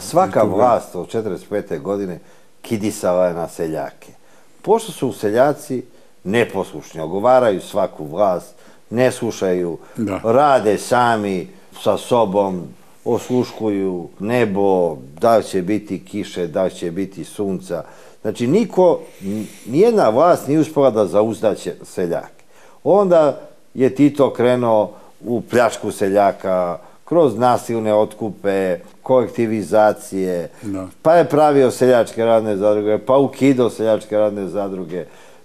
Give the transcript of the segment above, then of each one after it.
Svaka vlast od 1945. godine kidisala je na seljake. Pošto su seljaci neposlušni, ogovaraju svaku vlast, ne slušaju, rade sami sa sobom, osluškuju nebo, da li će biti kiše, da li će biti sunca. Znači, nijedna vlast nije uspela da zauzda seljake. Onda je Tito krenuo u pljačku seljaka, kroz nasilne otkupe, kolektivizacije, pa je pravio seljačke radne zadruge, pa ukidao seljačke radne zadruge,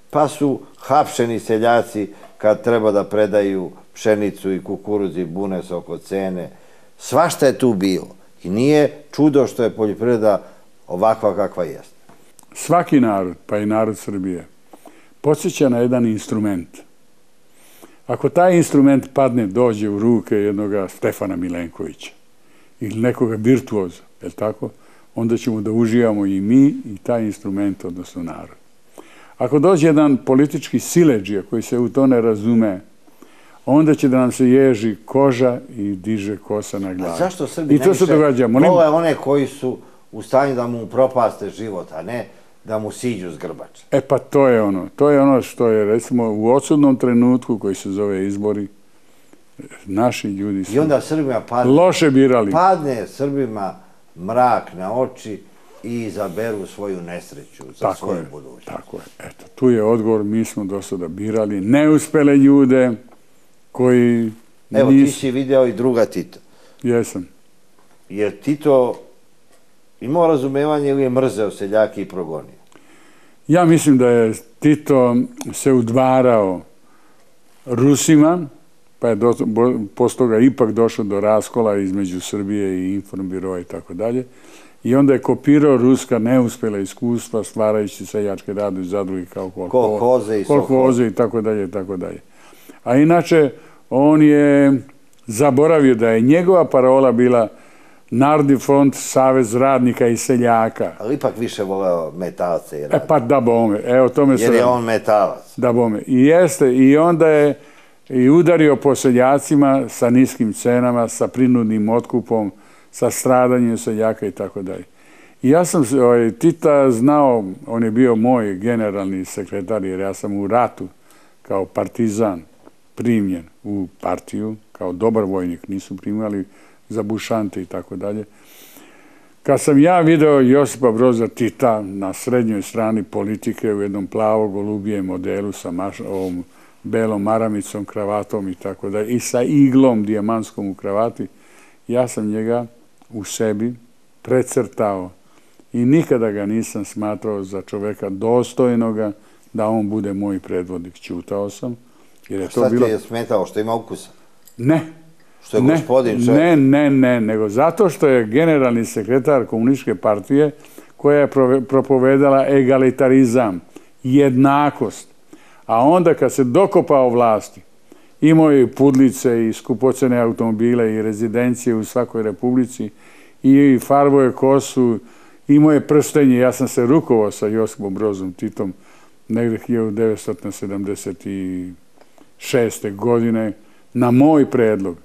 pa su hapšeni seljaci kad treba da predaju pšenicu i kukuruz i bune se oko cene. Svašta je tu bilo i nije čudo što je poljoprivreda ovakva kakva jeste. Svaki narod, pa i narod Srbije, podsjeća na jedan instrument. Ako taj instrument dođe u ruke jednoga Stefana Milenkovića ili nekoga virtuoza, je li tako? Onda ćemo da uživamo i mi i taj instrument, odnosno narod. Ako dođe jedan politički siledžija koji se u to ne razume, onda će da nam se ježi koža i diže kosa na glavi. A zašto Srbi najviše vole one koji su u stanju da mu propaste život, a ne da mu siđu s grbača? E pa to je ono što je, recimo, u odsudnom trenutku koji se zove izbori, naši ljudi su loše birali. Padne Srbima mrak na oči i izaberu svoju nesreću za svoju budućnost. Tako je. Eto, tu je odgovor, mi smo do sada birali neuspele ljude koji... Evo, ti si video i druga Tita. Jesam. Jer Tito imao razumevanje ili je mrzeo seljake i progonio? Ja mislim da je Tito se udvarao Rusima, pa je posle toga ipak došlo do raskola između Srbije i Informbiroa i tako dalje. I onda je kopirao ruska neuspjela iskustva stvarajući seljačke radne zadruge kao kolhoze i tako dalje i tako dalje. A inače, on je zaboravio da je njegova parola bila Narodni front, Savez radnika i seljaka. Ali ipak više voleo metalce i radnika. Pa da bome, evo tome se... Jer je on metalac. Da bome. I jeste, i onda je i udario po seljacima sa niskim cenama, sa prinudnim otkupom, sa stradanjem seljaka i tako dalje. I ja sam Tita znao, on je bio moj generalni sekretar, jer ja sam u ratu kao partizan primljen u partiju, kao dobar vojnik, nisu primali za bušante i tako dalje. Kad sam ja video Josipa Broza Tita na srednjoj strani politike u jednom plavo-golubijem modelu sa ovom belom maramicom, kravatom i tako dalje, i sa iglom dijamantskom u kravati, ja sam njega u sebi precrtao i nikada ga nisam smatrao za čoveka dostojnoga da on bude moj predvodnik. Ćutao sam. Šta ti je smetao? Što ima ukusa? Ne. Što je gospodin čovjek? Ne, nego zato što je generalni sekretar komunističke partije koja je propovedala egalitarizam, jednakost. A onda kad se dokopao vlasti, imao je i pudlice i skupocene automobile i rezidencije u svakoj republici i farbo je kosu, imao je prstenje. Ja sam se rukovao sa Josipom Brozom Titom negde 1976. godine na moj predlog.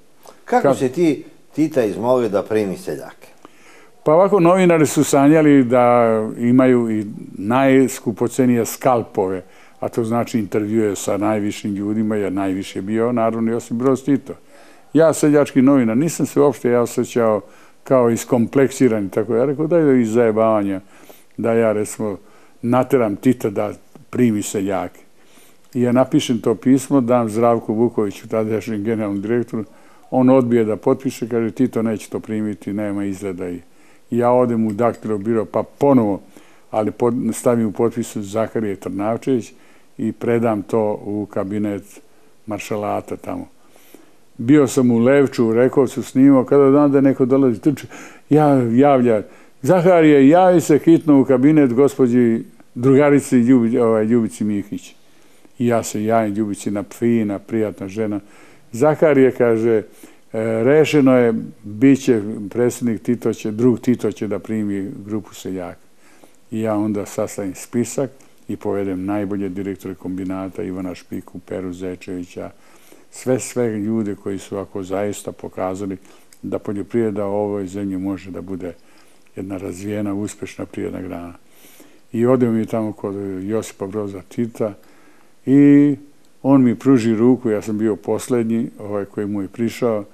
Kako se ti Tita izmolio da primi seljake? Pa ovako, novinari su sanjali da imaju i najskupocenije skalpove, a to znači intervjue sa najvišim ljudima, jer najviše je bio naravno Josip Broz Tito. Ja, seljački novinar, nisam se uopšte osjećao kao iskompleksiran, tako ja rekao da je iz zajebavanja da ja, recimo, nateram Tita da primi seljake. I ja napišem to pismo, dam Zdravku Vukoviću, tadašnjem generalnom direktoru, on odbije da potpiše, kaže Tito neće to primiti, nema izgleda. I ja odem u daktilobiro, pa ponovo, ali stavim u potpisu Zaharije Trnavčević i predam to u kabinet maršalata tamo. Bio sam u Levču, u Rekovcu snimao, kada dan da neko dolazi, javlja, Zaharije, javi se hitno u kabinet gospođi drugarici Ljubici Mihić. I ja se javim Ljubici, fina, prijatna žena. Zaharije kaže, rešeno je, bit će predsjednik Tito će, drug Tito će da primi grupu seljaka. I ja onda sastavim spisak i povedem najbolje direktore kombinata, Ivana Špiku, Peru Zečevića, sve ljude koji su ako zaista pokazali da poljoprivreda u ovoj zemlji može da bude jedna razvijena, uspešna privredna grana. I odemo mi tamo kod Josipa Broza Tita i on mi pruži ruku, ja sam bio poslednji, koji mu je prišao,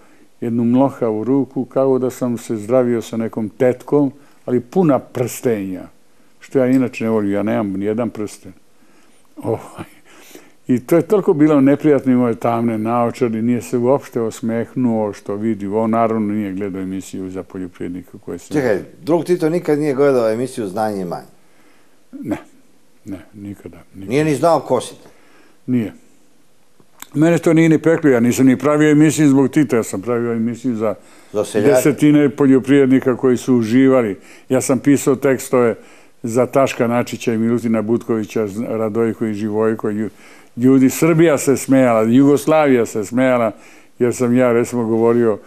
jednu mlohavu ruku, kao da sam se zdravio sa nekom tetkom, ali puna prstenja, što ja inače ne volim, ja nemam nijedan prsten. I to je toliko bilo neprijatno, imao je tamne naočare, nije se uopšte osmehnuo što vidi. On naravno nije gledao emisiju za poljoprivrednika koje se... Čekaj, drug Tito nikad nije gledao emisiju Znanje i manje? Ne, nikada. Nije ni znao ko si? Nije. Mene to nije ni peklo, ja nisam ni pravio emisiju zbog Tita, ja sam pravio emisiju za desetine poljoprivrednika koji su uživali. Ja sam pisao tekstove za Taška Načića i Milutina Butkovića, Radojko i Živojko. Ljudi, Srbija se smejala, Jugoslavija se smejala, jer sam ja, recimo, govorio,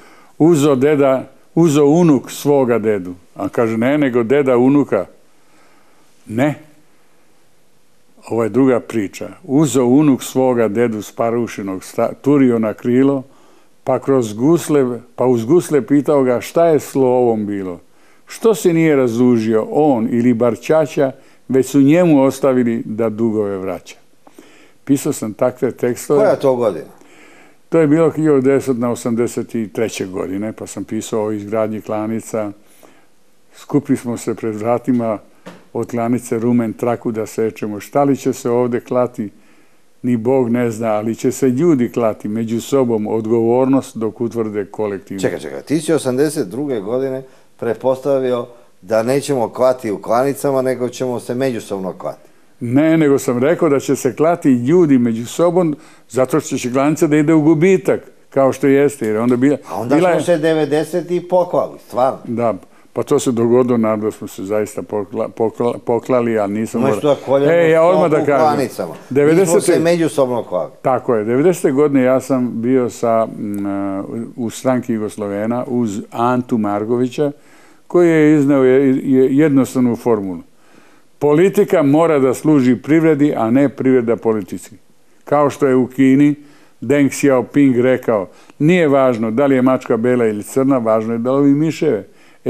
uzo unuk svoga dedu. A kaže, ne, nego deda unuka. Ne. Ovo je druga priča. Uzo unuk svoga dedu sparušinog, turio na krilo, pa uz gusle pitao ga šta je slovom bilo. Što se nije razužio on ili bar ćaća, već su njemu ostavili da dugove vraća. Pisao sam takve tekstove. Koja je to godina? To je bilo 1983. godine, pa sam pisao o izgradnji klanica. Skupili smo se pred vratima od klanice Rumen traku da sečemo. Šta li će se ovde klati, ni Bog ne zna, ali će se ljudi klati među sobom, odgovornost dok utvrde kolektivno. Čekaj, ti si 1982. godine prepostavio da nećemo klati u klanicama, nego ćemo se međusobno klati. Ne, nego sam rekao da će se klati ljudi među sobom, zato što će klanica da ide u gubitak, kao što jeste. A onda smo se 90. poklali, stvarno. Da, pa to se dogodilo, naravno smo se zaista poklali, ali nisam... Umesto da koljemo stopu u klanicama. Mi smo se međusobno klali. Tako je. 90. godine ja sam bio u stranki Jugoslovena uz Antu Margovića, koji je izneo jednostavnu formulu. Politika mora da služi privredi, a ne privreda politici. Kao što je u Kini Deng Xiaoping rekao, nije važno da li je mačka bela ili crna, važno je da lovi miševe.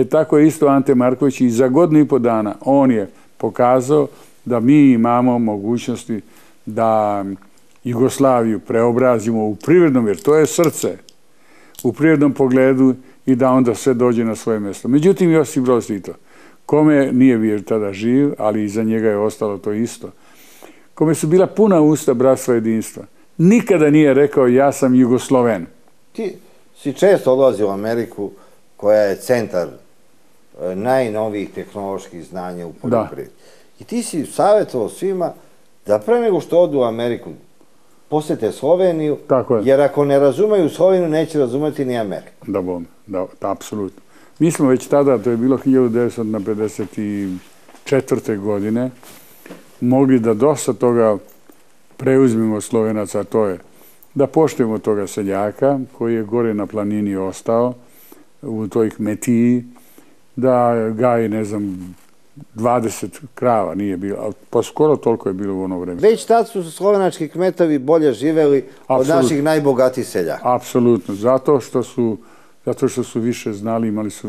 Tako je isto Ante Marković i za 1,5 dana on je pokazao da mi imamo mogućnosti da Jugoslaviju preobrazimo u privrednom, jer to je srce, u privrednom pogledu i da onda sve dođe na svoje mjesto. Međutim, Josip Broz Tito, kome nije bio tada živ, ali iza njega je ostalo to isto, kome su bila puna usta bratstva jedinstva, nikada nije rekao ja sam Jugosloven. Ti si često odlazio u Ameriku, koja je centar najnovijih tehnoloških znanja u poljoprivredi. I ti si savjetovao svima da pre nego što odu u Ameriku posete Sloveniju, jer ako ne razumeju Sloveniju, neće razumeti ni Ameriku. Da, apsolutno. Mi smo već tada, to je bilo 1954. godine, mogli da dosta toga preuzmemo Slovenaca, to je da poštujemo toga seljaka koji je gore na planini ostao, u toj kmetiji, da gaji, ne znam, 20 krava nije bilo, pa skoro toliko je bilo u ono vreme. Već tad su slovenački kmetovi bolje živeli od naših najbogatijih seljaka. Apsolutno, zato što su više znali, imali su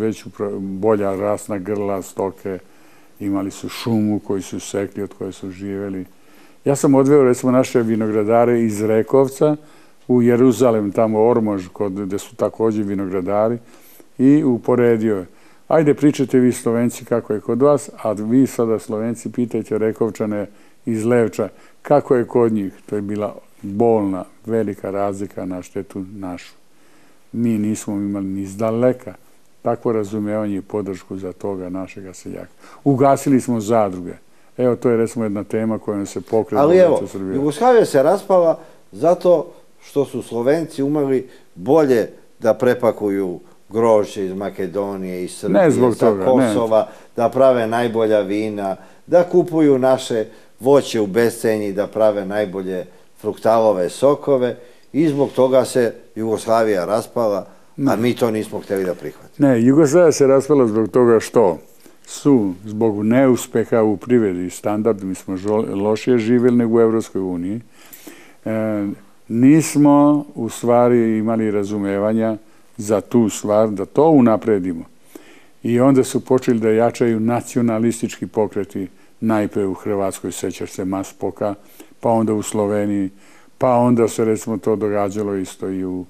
bolja rasna grla, stoke, imali su šumu koju su sekli, od koje su živeli. Ja sam odveo, recimo, naše vinogradare iz Rekovca u Jeruzalem, tamo Ormož, gde su također vinogradari, i uporedio je. Ajde, pričajte vi Slovenci kako je kod vas, a vi sada Slovenci pitajte Rekovčane iz Levča kako je kod njih. To je bila bolna, velika razlika na štetu našu. Mi nismo imali ni izdaleka takvo razumevanje i podršku za toga našega seljaka. Ugasili smo zadruge. Evo, to je recimo jedna tema kojom se pokrenu. Ali evo, Jugoslavija se raspala zato što su Slovenci umeli bolje da prepakuju grožđe iz Makedonije, iz Srbije, sa Kosova, da prave najbolja vina, da kupuju naše voće u bescenji, da prave najbolje fruktalove sokove i zbog toga se Jugoslavija raspala, a mi to nismo htjeli da prihvatimo. Ne, Jugoslavija se raspala zbog toga što su zbog neuspeha u privredi standardu, mi smo lošije živjeli nego u Evropskoj uniji, nismo u stvari imali razumevanja za tu stvar, da to unapredimo. I onda su počeli da jačaju nacionalistički pokreti, najpre u Hrvatskoj, sećaš se Maspoka, pa onda u Sloveniji, pa onda se recimo to događalo isto i u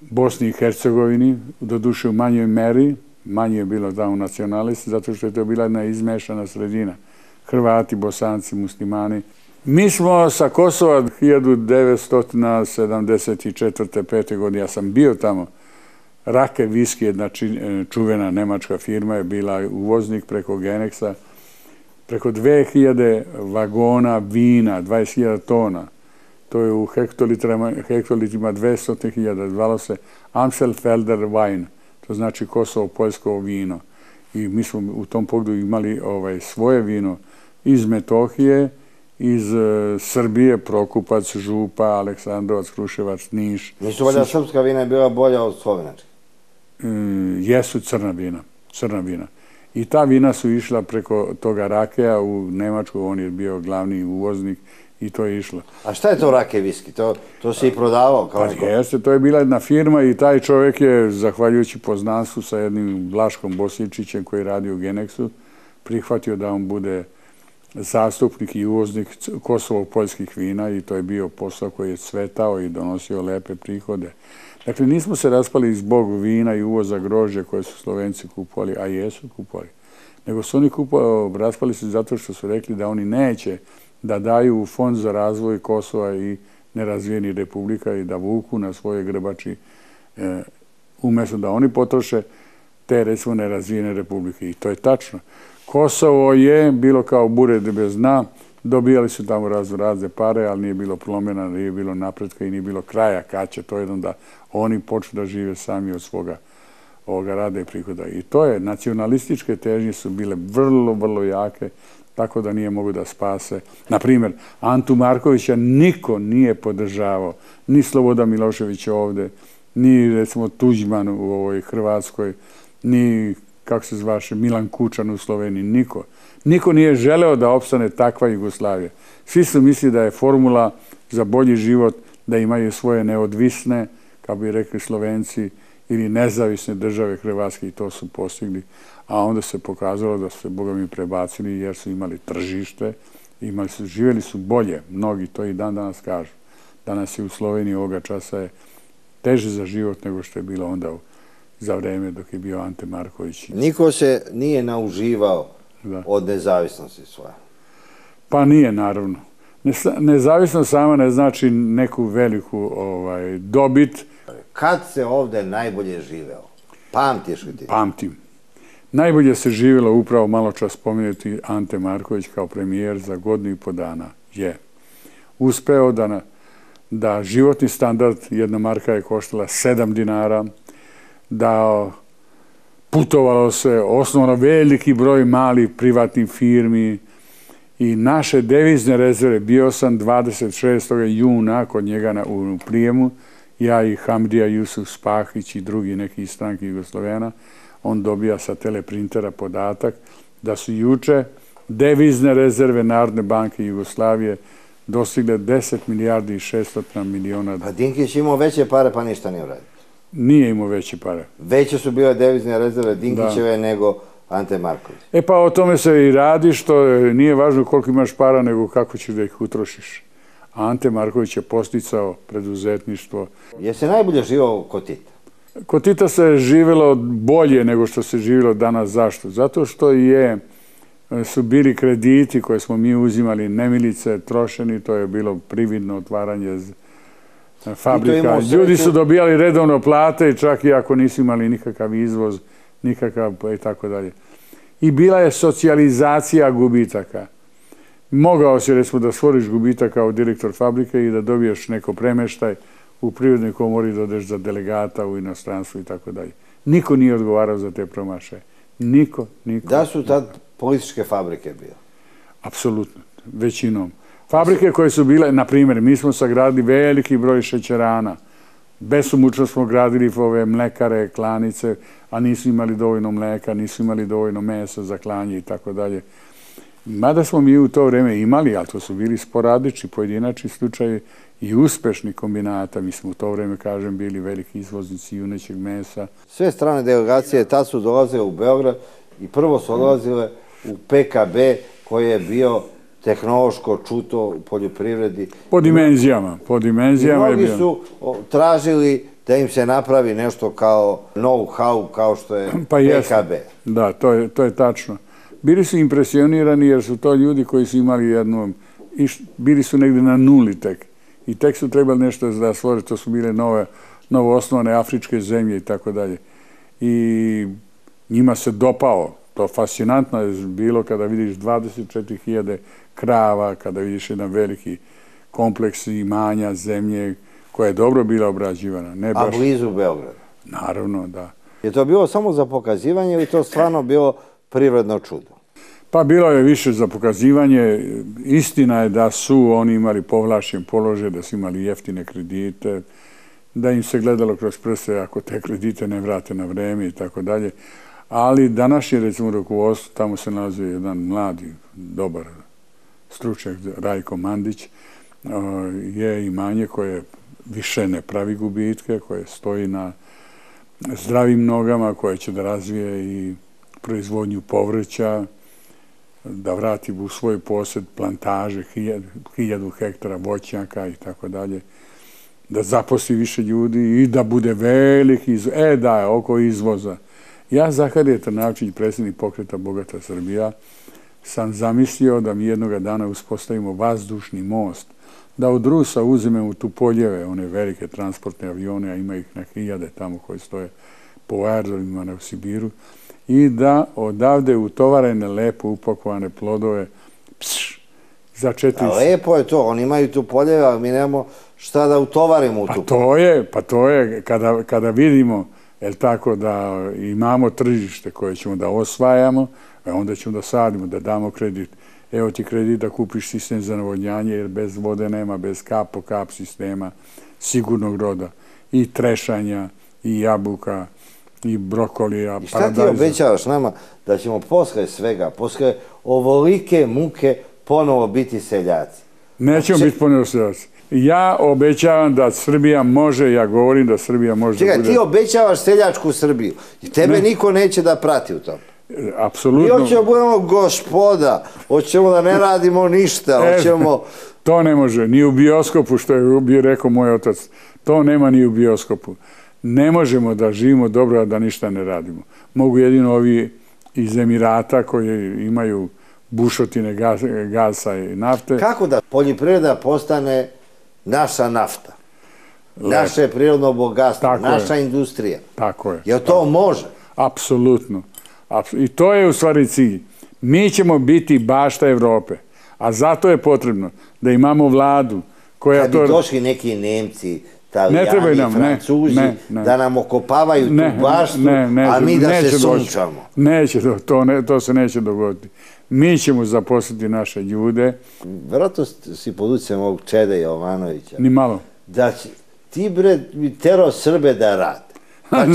Bosni i Hercegovini, doduše u manjoj meri, manje je bilo tamo nacionalisti, zato što je to bila jedna izmešana sredina. Hrvati, Bosanci, Muslimani. Mi smo sa Kosova 1974. 5. godine, ja sam bio tamo, Rake Viski, jedna čuvena nemačka firma, je bila uvoznik preko Genexa, preko 2000 vagona vina, 20.000 tona. To je u hektolitrima 200.000, zvalo se Amstelfelder Wein, to znači Kosovo-poljsko vino. I mi smo u tom pogledu imali svoje vino iz Metohije, iz Srbije, Prokupac, Župa, Aleksandrovac, Kruševac, Niš. Nisu valjda srpska vina je bila bolja od slovenačke? Jesu crna vina. I ta vina su išla preko toga Rakeja u Nemačku, on je bio glavni uvoznik i to je išlo. A šta je to Rake Viski? To se i prodavao kao neko? Pa jeste, to je bila jedna firma i taj čovjek je, zahvaljujući poznanstvu sa jednim Vlaškom Bosličićem koji radi u Genexu, prihvatio da on bude zastupnik i uvoznik Kosovo-poljskih vina i to je bio posao koji je cvetao i donosio lepe prihode. Dakle, nismo se raspali zbog vina i uvoza grožđa koje su Slovenci kupovali, a jesu kupovali, nego su oni raspali se zato što su rekli da oni neće da daju u fond za razvoj Kosova i nerazvijenih republika i da vuku na svoje grbači, umjesto da oni potroše te, recimo, nerazvijene republike. I to je tačno. Kosovo je bilo kao bure bez dna, dobijali su tamo razne pare, ali nije bilo promjena, nije bilo napretka i nije bilo kraja kad će to jednom da oni počnu da žive sami od svoga rada i prihoda. I to je, nacionalističke težnje su bile vrlo, vrlo jake, tako da nije mogu da spase. Naprimjer, Antu Markovića niko nije podržavao, ni Slobodan Milošević ovde, ni, recimo, Tuđman u ovoj Hrvatskoj, ni, kako se zvaše, Milan Kučan u Sloveniji, niko. Niko nije želeo da opstane takva Jugoslavija. Svi su mislili da je formula za bolji život da imaju svoje neodvisne, kako bi rekli Slovenci, ili nezavisne države Hrvatske i to su postigli. A onda se pokazalo da su se, Boga mi, prebacili jer su imali tržište, živjeli su bolje, mnogi to i dan danas kažu. Danas je u Sloveniji ovoga časa je teže za život nego što je bilo onda za vreme dok je bio Ante Marković. Niko se nije nauživao od nezavisnosti svoje? Pa nije, naravno. Nezavisnost sama ne znači neku veliku dobit. Kad se ovde najbolje živeo? Pamtiš li ti? Pamtim. Najbolje se živjelo upravo malo čas spomenuti Ante Marković kao premijer za 1,5 dana je uspeo da životni standard, jedna marka je koštala 7 dinara, da putovalo se osnovno veliki broj malih privatnih firmi i naše devizne rezerve, bio sam 26. juna kod njega u prijemu, ja i Hamdija Jusuf Spahić i drugi neki iz stranke Jugoslovena, on dobija sa teleprintera podatak da su juče devizne rezerve Narodne banke Jugoslavije dostigle 10 milijardi i 600 miliona. Pa Dinkić imao veće pare pa ništa nije uradio. Nije imao veće pare. Veće su bile devizne rezerve Dinkićeve nego Ante Marković. E pa o tome se i radi, što nije važno koliko imaš para nego kako ćeš da ih utrošiš. Ante Marković je posticao preduzetništvo. Je se najbolje živao kod Tita? Kod Tita se živjelo bolje nego što se živjelo danas. Zašto? Zato što su bili krediti koje smo mi uzimali, nemilice, trošeni, to je bilo prividno otvaranje fabrika. Ljudi su dobijali redovno plate, čak i ako nisu imali nikakav izvoz, nikakav i tako dalje. I bila je socijalizacija gubitaka. Mogao si, recimo, da stvoriš gubitak kao direktor fabrike i da dobiješ neko premeštaj u Privrednoj komori, da odeš za delegata u inostranstvu i tako dalje. Niko nije odgovarao za te promašaje. Niko. Da su tad političke fabrike bile? Apsolutno, većinom. Fabrike koje su bile, na primjer, mi smo sagradili veliki broj šećerana. Besomučno smo gradili ove mlekare, klanice, a nisu imali dovoljno mleka, nisu imali dovoljno mesa za klanje i tako dalje. Mada smo mi u to vreme imali, ali to su bili sporadični, pojedinačni slučajevi i uspešni kombinata. Mi smo u to vreme, kažem, bili veliki izvoznici junećeg mesa. Sve strane delegacije tad su dolazile u Beograd i prvo su dolazile u PKB koji je bio tehnološko čuto u poljoprivredi. Po dimenzijama. I mnogi su tražili da im se napravi nešto kao know-how, kao što je PKB. Da, to je tačno. Bili su impresionirani jer su to ljudi koji su imali bili su negdje na nuli tek. I tek su trebali nešto da stvore, to su bile novo osnovane afričke zemlje i tako dalje. I njima se dopao. To fascinantno je bilo kada vidiš 24.000 krava, kada vidiš jedan veliki kompleks imanja zemlje koja je dobro bila obrađivana. A blizu Beograda? Naravno, da. Je to bilo samo za pokazivanje ili to stvarno bilo prirodno čudo? Pa bilo je više za pokazivanje. Istina je da su oni imali povlašćen položaj, da su imali jeftine kredite, da im se gledalo kroz prste ako te kredite ne vrate na vreme i tako dalje. Ali današnje, recimo, rukovodstvo, tamo se nalazi jedan mladi, dobar stručnjak, Rajko Mandić, je imanje koje više ne pravi gubitke, koje stoji na zdravim nogama, koje će da razvije i proizvodnju povrća, da vrati u svoj posjed plantaže, 1000 hektara voćnjaka i tako dalje, da zaposli više ljudi i da bude veliki, oko izvoza. Ja, Zaharije Trnavčić, predsjednik pokreta Bogata Srbija, sam zamislio da mi jednoga dana uspostavimo vazdušni most, da od Rusa uzmemo tu Poljeve, one velike transportne avione, a ima ih na 1000 tamo koji stoje po aerodromima u Sibiru, i da odavde utovarene, lepo upakovane plodove, za 400... A lepo je to, oni imaju tu Poljeve, ali mi nemamo šta da utovarimo u tu Poljeve. Pa to je, kada vidimo, tako da imamo tržište koje ćemo da osvajamo, onda ćemo da sadimo, da damo kredit. Evo ti kredit da kupiš sistem za navodnjanje, jer bez vode nema, bez kap po kap sistema sigurnog roda. I trešanja, i jabuka, i brokolija, paradajza. I šta ti obećavaš nama da ćemo posle svega, posle ovolike muke ponovo biti seljaci? Nećemo biti ponovo seljaci. Ja obećavam da Srbija može, ja govorim da Srbija može da bude... Čekaj, ti obećavaš seljačku Srbiju i tebe niko neće da prati u tom. Apsolutno. Mi hoćemo budemo gospoda, hoćemo da ne radimo ništa, hoćemo... To ne može, ni u bioskopu, što je rekao moj otac, to nema ni u bioskopu. Ne možemo da živimo dobro, a da ništa ne radimo. Mogu jedino ovi iz Emirata koji imaju bušotine gasa i nafte. Kako da poljoprivreda postane naša nafta, naše prirodno bogatstvo, naša industrija? Tako je. Jel to može? Apsolutno. I to je u stvari cilj. Mi ćemo biti bašta Evrope, a zato je potrebno da imamo vladu koja to... Kad bi došli neki Nemci, Italijani, Francuzi, da nam okopavaju tu baštu, a mi da se sunčamo. Neće, to se neće dogoditi. Mi ćemo zaposliti naše ljude. Vjerojatno si pod utjecajem ovog Čeda Jovanovića. Ni malo. Da ti, bre, terao Srbe da rade. Pa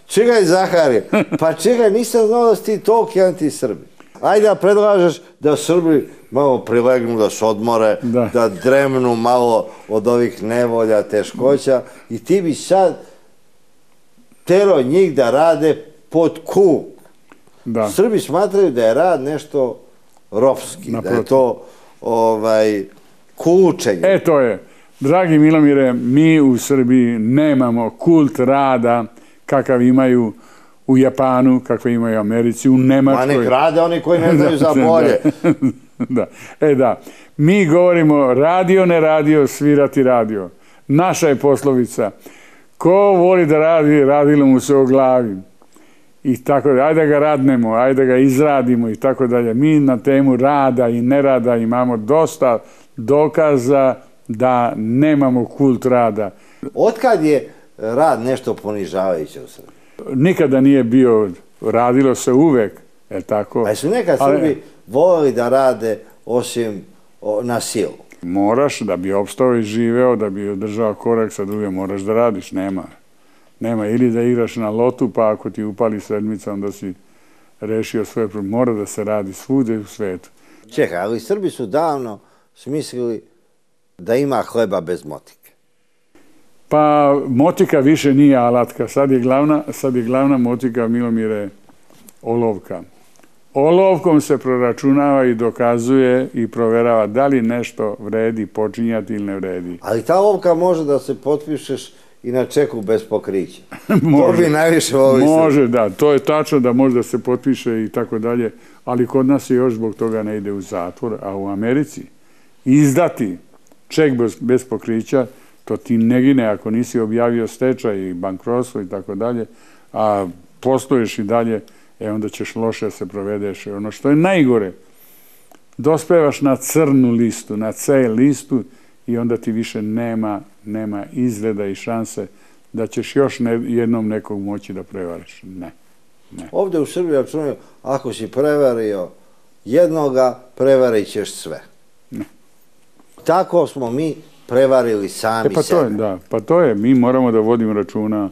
čekaj, Zaharije, pa čekaj, nisam znao da si ti toliki anti-Srbi. Ajde da predlažeš da Srbi malo prilegnu, da se odmore, da dremnu malo od ovih nevolja, teškoća i ti bi sad terao njih da rade pod kuk. Srbi smatraju da je rad nešto ropski, da je to kučenje. To je. Dragi Milomire, mi u Srbiji nemamo kult rada kakav imaju u Japanu, kakve imaju u Americi, u Nemačkoj. Ma nek rade oni koji ne znaju za bolje. Da. Mi govorimo radio, ne radio, svirati radio. Naša je poslovica. Ko voli da radi, radilo mu se o glavi. I tako da, ajde da ga radnemo, ajde da ga izradimo i tako dalje. Mi na temu rada i nerada imamo dosta dokaza da nemamo kult rada. Otkad je rad nešto ponižavajuće u Srbiji? Nikada nije bio, radilo se uvek, je tako? A su nekad Srbi volili da rade osim na silu? Moraš, da bi opstao i živeo, da bi održao korak sa drugim, moraš da radiš, nema. Ili da igraš na lotu, pa ako ti upali sedmica, onda si rešio svoje probleme. Mora da se radi svude u svetu. Čekaj, ali Srbi su davno smislili da ima hleba bez motike. Pa motika više nije alatka, sad je glavna motika, Milomire, olovka. Olovkom se proračunava i dokazuje i proverava da li nešto vredi počinjati ili ne vredi. Ali ta olovka može da se potpišeš i na čeku bez pokrića. To bi najviše volio. Može, da. To je tačno da može da se potpiše i tako dalje, ali kod nas je još zbog toga ne ide u zatvor, a u Americi izdati ček bez pokrića, to ti ne gine ako nisi objavio stečaj i bankrotstvo i tako dalje, a posluješ i dalje, onda ćeš loše se provedeš. Ono što je najgore, dospevaš na crnu listu, na C listu i onda ti više nema izgleda i šanse da ćeš još jednom nekog moći da prevariš. Ne. Ovdje u Srbiji računaju, ako si prevario jednoga, prevarit ćeš sve. Ne. Tako smo mi prevarili sami sebe. Pa to je, mi moramo da vodimo računa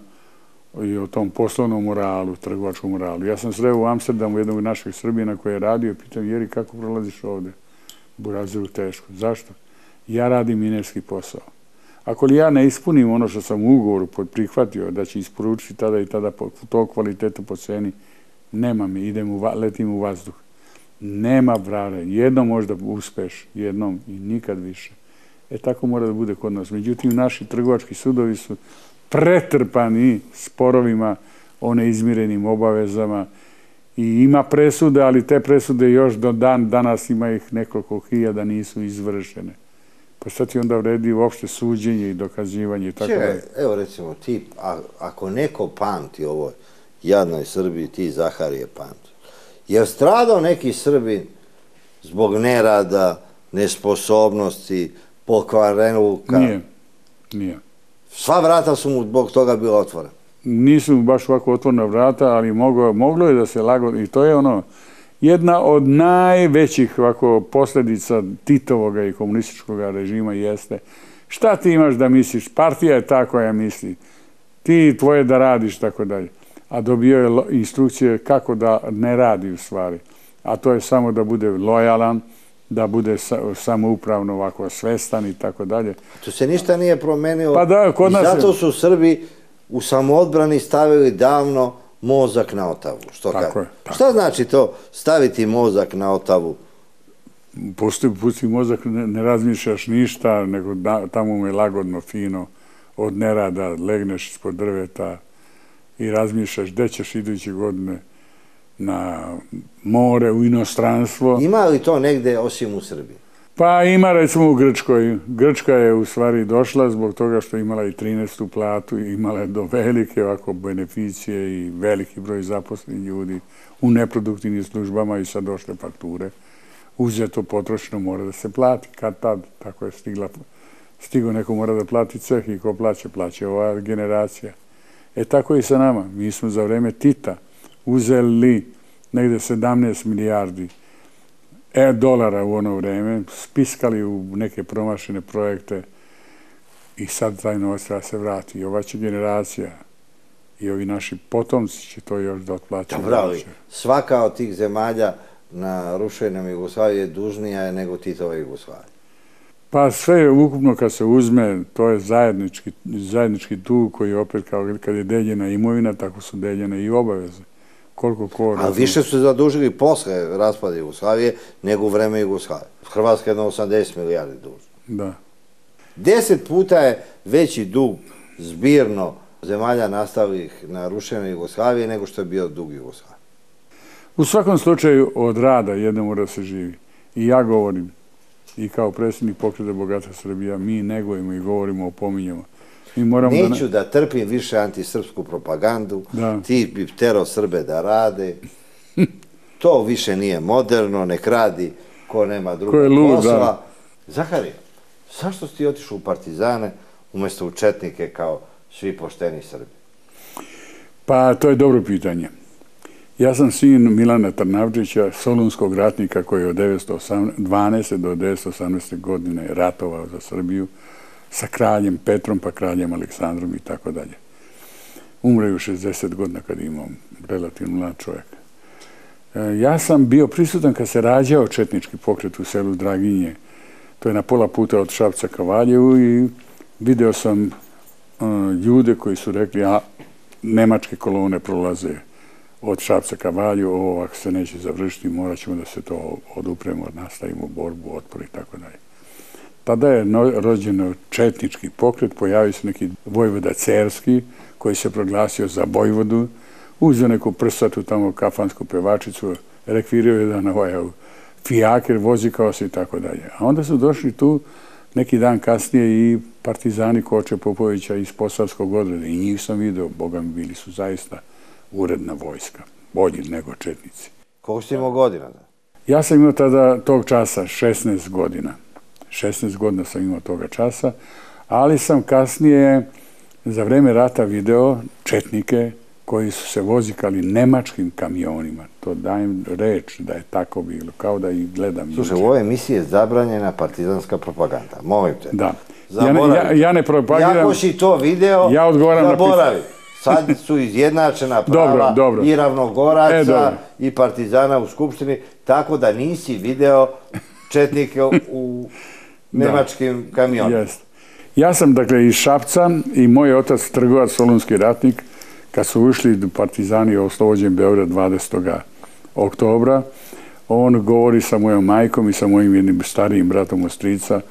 i o tom poslovnom moralu, trgovačkom moralu. Ja sam sreo u Amsterdamu jednog našeg Srbina koji je radio, pitam, Jeri, kako prolaziš ovde? Burazeru, teško. Zašto? Ja radim minerski posao. Ako li ja ne ispunim ono što sam u ugovoru prihvatio da će isporučiti tada i tada tog kvaliteta po ceni, nema mi, letim u vazduh. Nema vrare. Jednom možda uspeš, jednom i nikad više. Tako mora da bude kod nas. Međutim, naši trgovački sudovi su pretrpani sporovima o neizmirenim obavezama i ima presude, ali te presude još do danas ima ih nekoliko hiljada nisu izvršene. Pa sad ti onda vredi uopšte suđenje i dokazivanje i tako dalje. Evo recimo ti, ako neko pamti ovoj jadnoj Srbiji, ti Zaharije pamti. Je stradao neki Srbin zbog nerada, nesposobnosti, pokvarenuka? Nije. Sva vrata su mu zbog toga bila otvorena. Nisu mu baš ovako otvorena vrata, ali moglo je da se lagodno, i to je ono, jedna od najvećih ovako posljedica Titovoga i komunističkog režima jeste šta ti imaš da misliš, partija je ta koja misli, ti tvoje da radiš, tako dalje. A dobio je instrukcije kako da ne radi u stvari. A to je samo da bude lojalan, da bude samoupravno ovako svestan i tako dalje. To se ništa nije promenilo. Pa da, kod nas... I zato su Srbi u samoodbrani stavili davno mozak na otavu. Tako je. Šta znači to staviti mozak na otavu? Pusti mozak, ne razmišljaš ništa, nego tamo mu je lagodno, fino, od nerada, legneš ispod drveta i razmišljaš gde ćeš iduće godine na more, u inostranstvo. Ima li to negde osim u Srbiji? Pa ima recimo u Grčkoj. Grčka je u stvari došla zbog toga što imala i 13. platu i imala je do velike ovako beneficije i veliki broj zaposlenih ljudi u neproduktivnim službama i sad došle fakture. Uzeto potrošeno mora da se plati. Kad tad, tako je stigo neko mora da plati ceh i ko plaće? Plaće ova generacija. Tako i sa nama. Mi smo za vreme Tita uzeli negde 17 milijardi dolara u ono vreme, spiskali u neke promašene projekte i sad taj novac treba se vrati. I ova će generacija i ovi naši potomci će to još da otplaćaju. Dobro, ali svaka od tih zemalja na rušenom Jugoslaviji je dužnija nego Titova Jugoslavija. Pa sve ukupno kad se uzme, to je zajednički dug koji opet kao kad je deljena imovina, tako su deljene i obaveze. Ali više su se zadužili posle raspada Jugoslavije nego u vreme Jugoslavije. Hrvatska je na 80 milijardi dužna. Da. 10 puta je veći dug zbirno zemalja nastalih na rušenoj Jugoslavije nego što je bio dug Jugoslavije. U svakom slučaju od rada jedno mora se živi. I ja govorim, i kao predsjednik Pokreta Bogata Srbija, mi negujemo i govorimo, opominjemo. Neću da trpim više antisrpsku propagandu, ti bi tero Srbe da rade, to više nije moderno, nek radi ko nema drugog posla. Zaharije, zašto si ti otišao u partizane umjesto u četnike kao svi pošteni Srbi? Pa to je dobro pitanje. Ja sam sin Milana Trnavčića, solunskog ratnika koji je od 1912. do 1918. godine ratovao za Srbiju, sa kraljem Petrom, pa kraljem Aleksandrom i tako dalje. Umre u 60 godina kad imam relativno mlad čovjek. Ja sam bio prisutan kad se rađao četnički pokret u selu Draginje. To je na pola puta od Šapca ka Valjevu i video sam ljude koji su rekli, a nemačke kolone prolaze od Šapca ka Valjevu, ovo ovako se neće završiti, morat ćemo da se to odupremo, nastavimo borbu, otpor i tako dalje. Tada je rođeno četnički pokret, pojavio se neki vojvoda Cerski koji se proglasio za vojvodu, uzeo neku prsatu tamo kafansku pevačicu, rekvirio jedan fijaker, vozikao se i tako dalje. A onda su došli tu neki dan kasnije i partizani Koče Popovića iz Posavskog odreda i njih sam video, boga mi bili su zaista uredna vojska, bolji nego četnici. Koliko si imao godina? Ja sam imao tada tog časa 16 godina. 16 godina sam imao toga časa, ali sam kasnije za vreme rata video četnike koji su se vozikali nemačkim kamionima. To dajem reč da je tako bilo, kao da ih gledam. Slušaj, u ovoj emisiji je zabranjena partizanska propaganda. Molim te. Da. Ja ne propagiram. Jako si to video, zaboravi. Sad su izjednačena prava i ravnogoraca i partizana u Skupštini, tako da nisi video četnike u nemačkim kamionima. Ja sam, dakle, iz Šapca i moj otac, trgovac, solunski ratnik, kad su ušli partizani oslobođen Beograd 20. oktobra, on govori sa mojom majkom i sa mojim jednim starijim bratom od strica,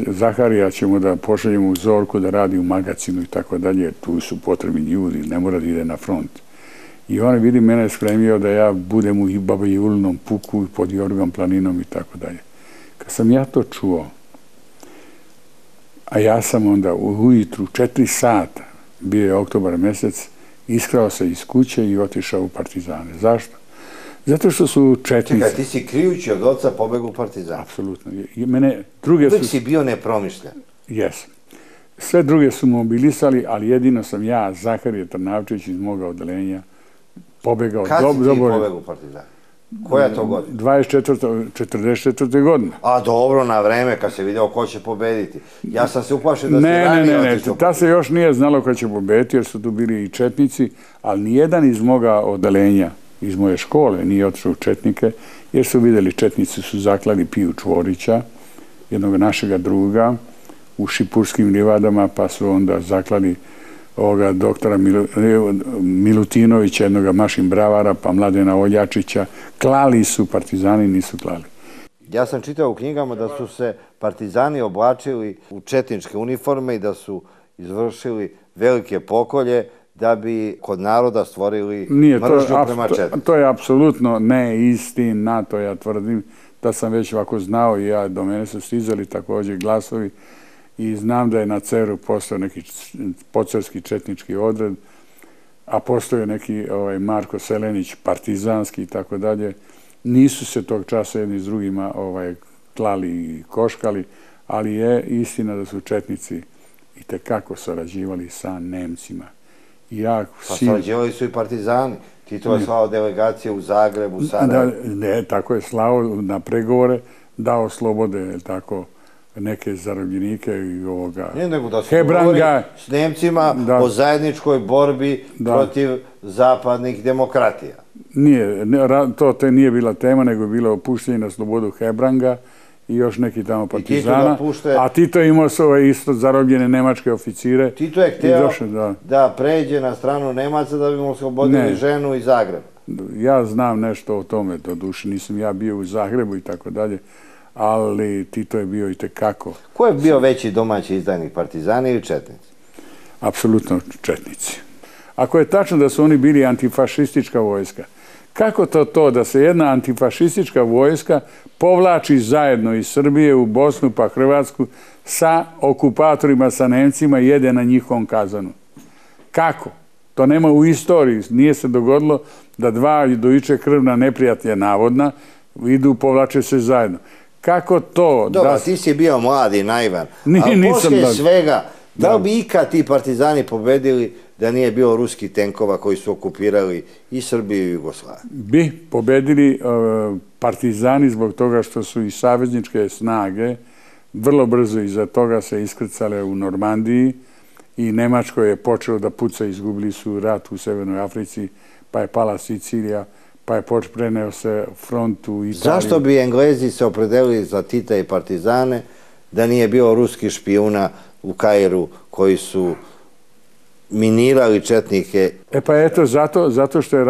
Zaharija ćemo da pošaljemo u Zorku da radi u magazinu i tako dalje, tu su potrebni ljudi, ne mora da ide na front. I on vidi mene spremio da ja budem u Baba Julinom puku pod Jorgom planinom i tako dalje. Kad sam ja to čuo, a ja sam onda ujutru 4 sata, bio je oktobar mesec, iskrao se iz kuće i otišao u partizane. Zašto? Zato što su četnici... Čekaj, ti si krijući od oca pobegu u partizane. Apsolutno. Uvijek si bio nepromišljen. Jesam. Sve druge su mobilisali, ali jedino sam ja, Zaharije Trnavčević iz moga odelenja, pobegao. Kad si ti pobegu u partizane? Koja je to godina? 44. godine. A dobro, na vreme, kad se video ko će pobediti. Ja sam se uplašio da se ranije otišao. Ne, ta se još nije znalo ko će pobediti, jer su tu bili i četnici, ali nijedan iz moga odelenja, iz moje škole, nije otišao u četnike, jer su vidjeli četnici su zaklali Piju Čvorića, jednog našega druga, u Šipurskim livadama, pa su onda zaklali ovoga doktora Milutinovića, jednog Mašin Bravara, pa Mladena Oljačića. Klali su, partizani nisu klali. Ja sam čitao u knjigama da su se partizani oblačili u četničke uniforme i da su izvršili velike pokolje da bi kod naroda stvorili mržnju prema četnicima. To je apsolutno neistina, to ja tvrdim da sam već ovako znao i ja, do mene su stizali također glasovi i znam da je na Ceru postao neki pocerski četnički odred, a postao neki Marko Selenić partizanski i tako dalje. Nisu se tog časa jedni s drugima klali i koškali, ali je istina da su četnici itekako sarađivali sa Nemcima. Pa sarađivali su i partizani. Tito je slao delegacije u Zagrebu, Sarajevo. Ne, tako je slao na pregovore, dao slobode, tako, neke zarobljenike i ovoga Hebranga. Nego da se govori s Nemcima o zajedničkoj borbi protiv zapadnih demokratija. Nije, to nije bila tema, nego je bilo opuštenje na slobodu Hebranga i još neki tamo partizana. A Tito je imao svoje isto zarobljene nemačke oficire. Tito je hteo da pređe na stranu Nemaca da bi mu oslobodili ženu iz Zagreba. Ja znam nešto o tome, doduše nisam ja bio u Zagrebu i tako dalje, ali Tito je bio i tekako. Ko je bio veći domaći izdajnik, partizani ili četnici? Apsolutno četnici. Ako je tačno da su oni bili antifašistička vojska, kako to da se jedna antifašistička vojska povlači zajedno iz Srbije u Bosnu pa Hrvatsku sa okupatorima, sa Nemcima i jede na njihovom kazanu? Kako? To nema u istoriji. Nije se dogodilo da dva dojuče krvna neprijatelja navodna idu, povlače se zajedno. Kako to? Dobro, ti si bio mladi, naivan. Ali poslije svega, da li bi ikad ti partizani pobedili da nije bilo ruskih tenkova koji su okupirali i Srbiju i Jugoslaviju? Bi pobedili partizani zbog toga što su i savezničke snage vrlo brzo iza toga se iskrcale u Normandiji i Nemačko je počelo da puca, izgubili su rat u Severnoj Africi, pa je pala Sicilija, pa je preneo se front u Italiji. Zašto bi Englezi se opredelili za Tita i partizane da nije bilo ruskih špijuna u Kairu koji su minirali četnike? Pa eto, zato što je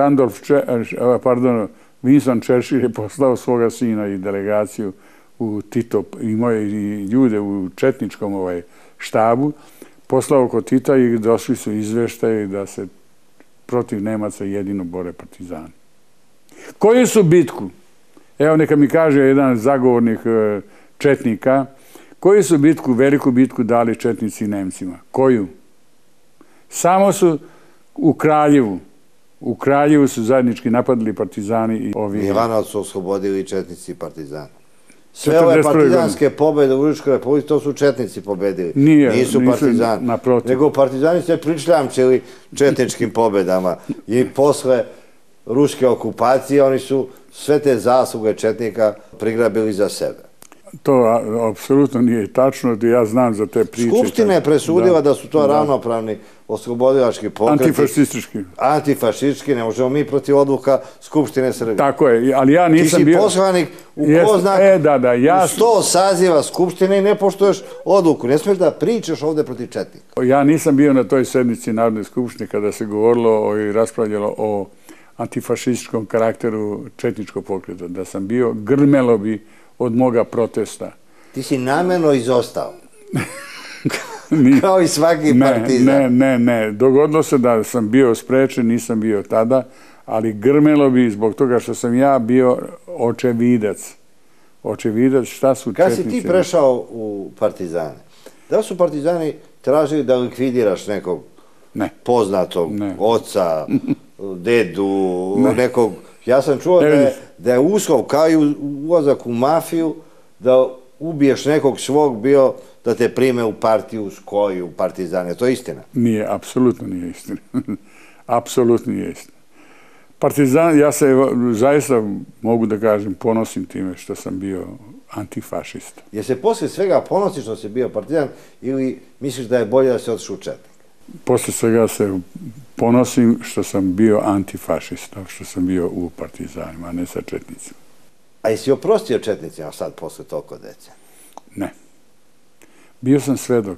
Winston Churchill je poslao svoga sina i delegaciju u Tito, imao je i ljude u četničkom štabu, poslao kod Tita i došli su izveštaji da se protiv Nemaca jedino bore partizani. Koju su bitku? Evo neka mi kaže jedan zagovornik četnika, koju su bitku, veliku bitku dali četnici Nemcima? Koju? Samo su u Kraljevu. U Kraljevu su zajednički napadali partizani i ovi... Milanovac su oslobodili četnici i partizani. Sve ove partizanske pobjede u Ruskoj republici, to su četnici pobedili. Nisu partizani. Nego partizani se pričljamčili četničkim pobjedama. I posle ruske okupacije oni su sve te zasluge četnika prigrabili za sebe. To apsolutno nije tačno, ja znam za te priče. Skupština je presudila da su to ravnopravni oslobodilački pokreti. Antifašistički. Antifašistički, ne možemo mi protiv odluka Skupštine Srbije. Tako je, ali ja nisam bio... Ti si poslanik u ko zna, u 100 saziva Skupštine i ne poštuješ odluku. Ne smiješ da pričaš ovde protiv četnika. Ja nisam bio na toj sednici Narodne skupštine kada se govorilo i raspravljalo o antifašističkom karakteru četničkog pokreta. Da sam bio, grmelo bi od moga protesta. Ti si namjerno izostao. Kao i svaki partizan. Ne. Dogodilo se da sam bio sprečen, nisam bio tada, ali grmelo bi zbog toga što sam ja bio očevidac. Očevidac šta su četnici. Kad si ti prešao u partizane, da li su partizani tražili da likvidiraš nekog poznatog oca, dedu, nekog... Ja sam čuo da je uslov kao i ulazak u mafiju, da ubiješ nekog svog bio da te prime u partiju, skoju, partizane. To je istina? Nije, apsolutno nije istina. Apsolutno nije istina. Partizan, ja se zaista mogu da kažem, ponosim time što sam bio antifašista. Je se poslije svega ponosiš što si bio partizan ili misliš da je bolje da se otišu u četnik? Poslije svega se ponosim što sam bio antifašista, što sam bio u partizanima, a ne sa četnicima. A jesi oprostio četnicima sad posle toliko dece? Ne. Bio sam svedok.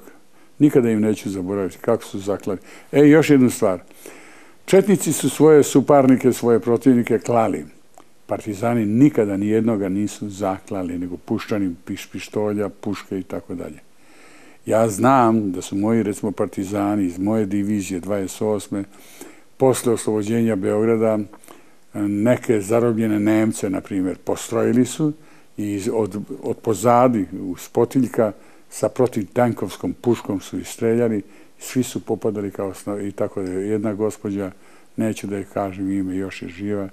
Nikada im neću zaboraviti kako su zaklali. Još jednu stvar. Četnici su svoje suparnike, svoje protivnike klali. Partizani nikada ni jednoga nisu zaklali, nego puščani pištolja, puške i tako dalje. Ja znam da su moji, recimo, partizani iz moje divizije 28. posle oslobođenja Beograda neke zarobljene Nemce, na primjer, postrojili su i od pozadi, uz potiljka, sa protivtankovskom puškom su istreljali, svi su popadali kao i tako da je jedna gospođa, neću da je kažem ime, još je živa,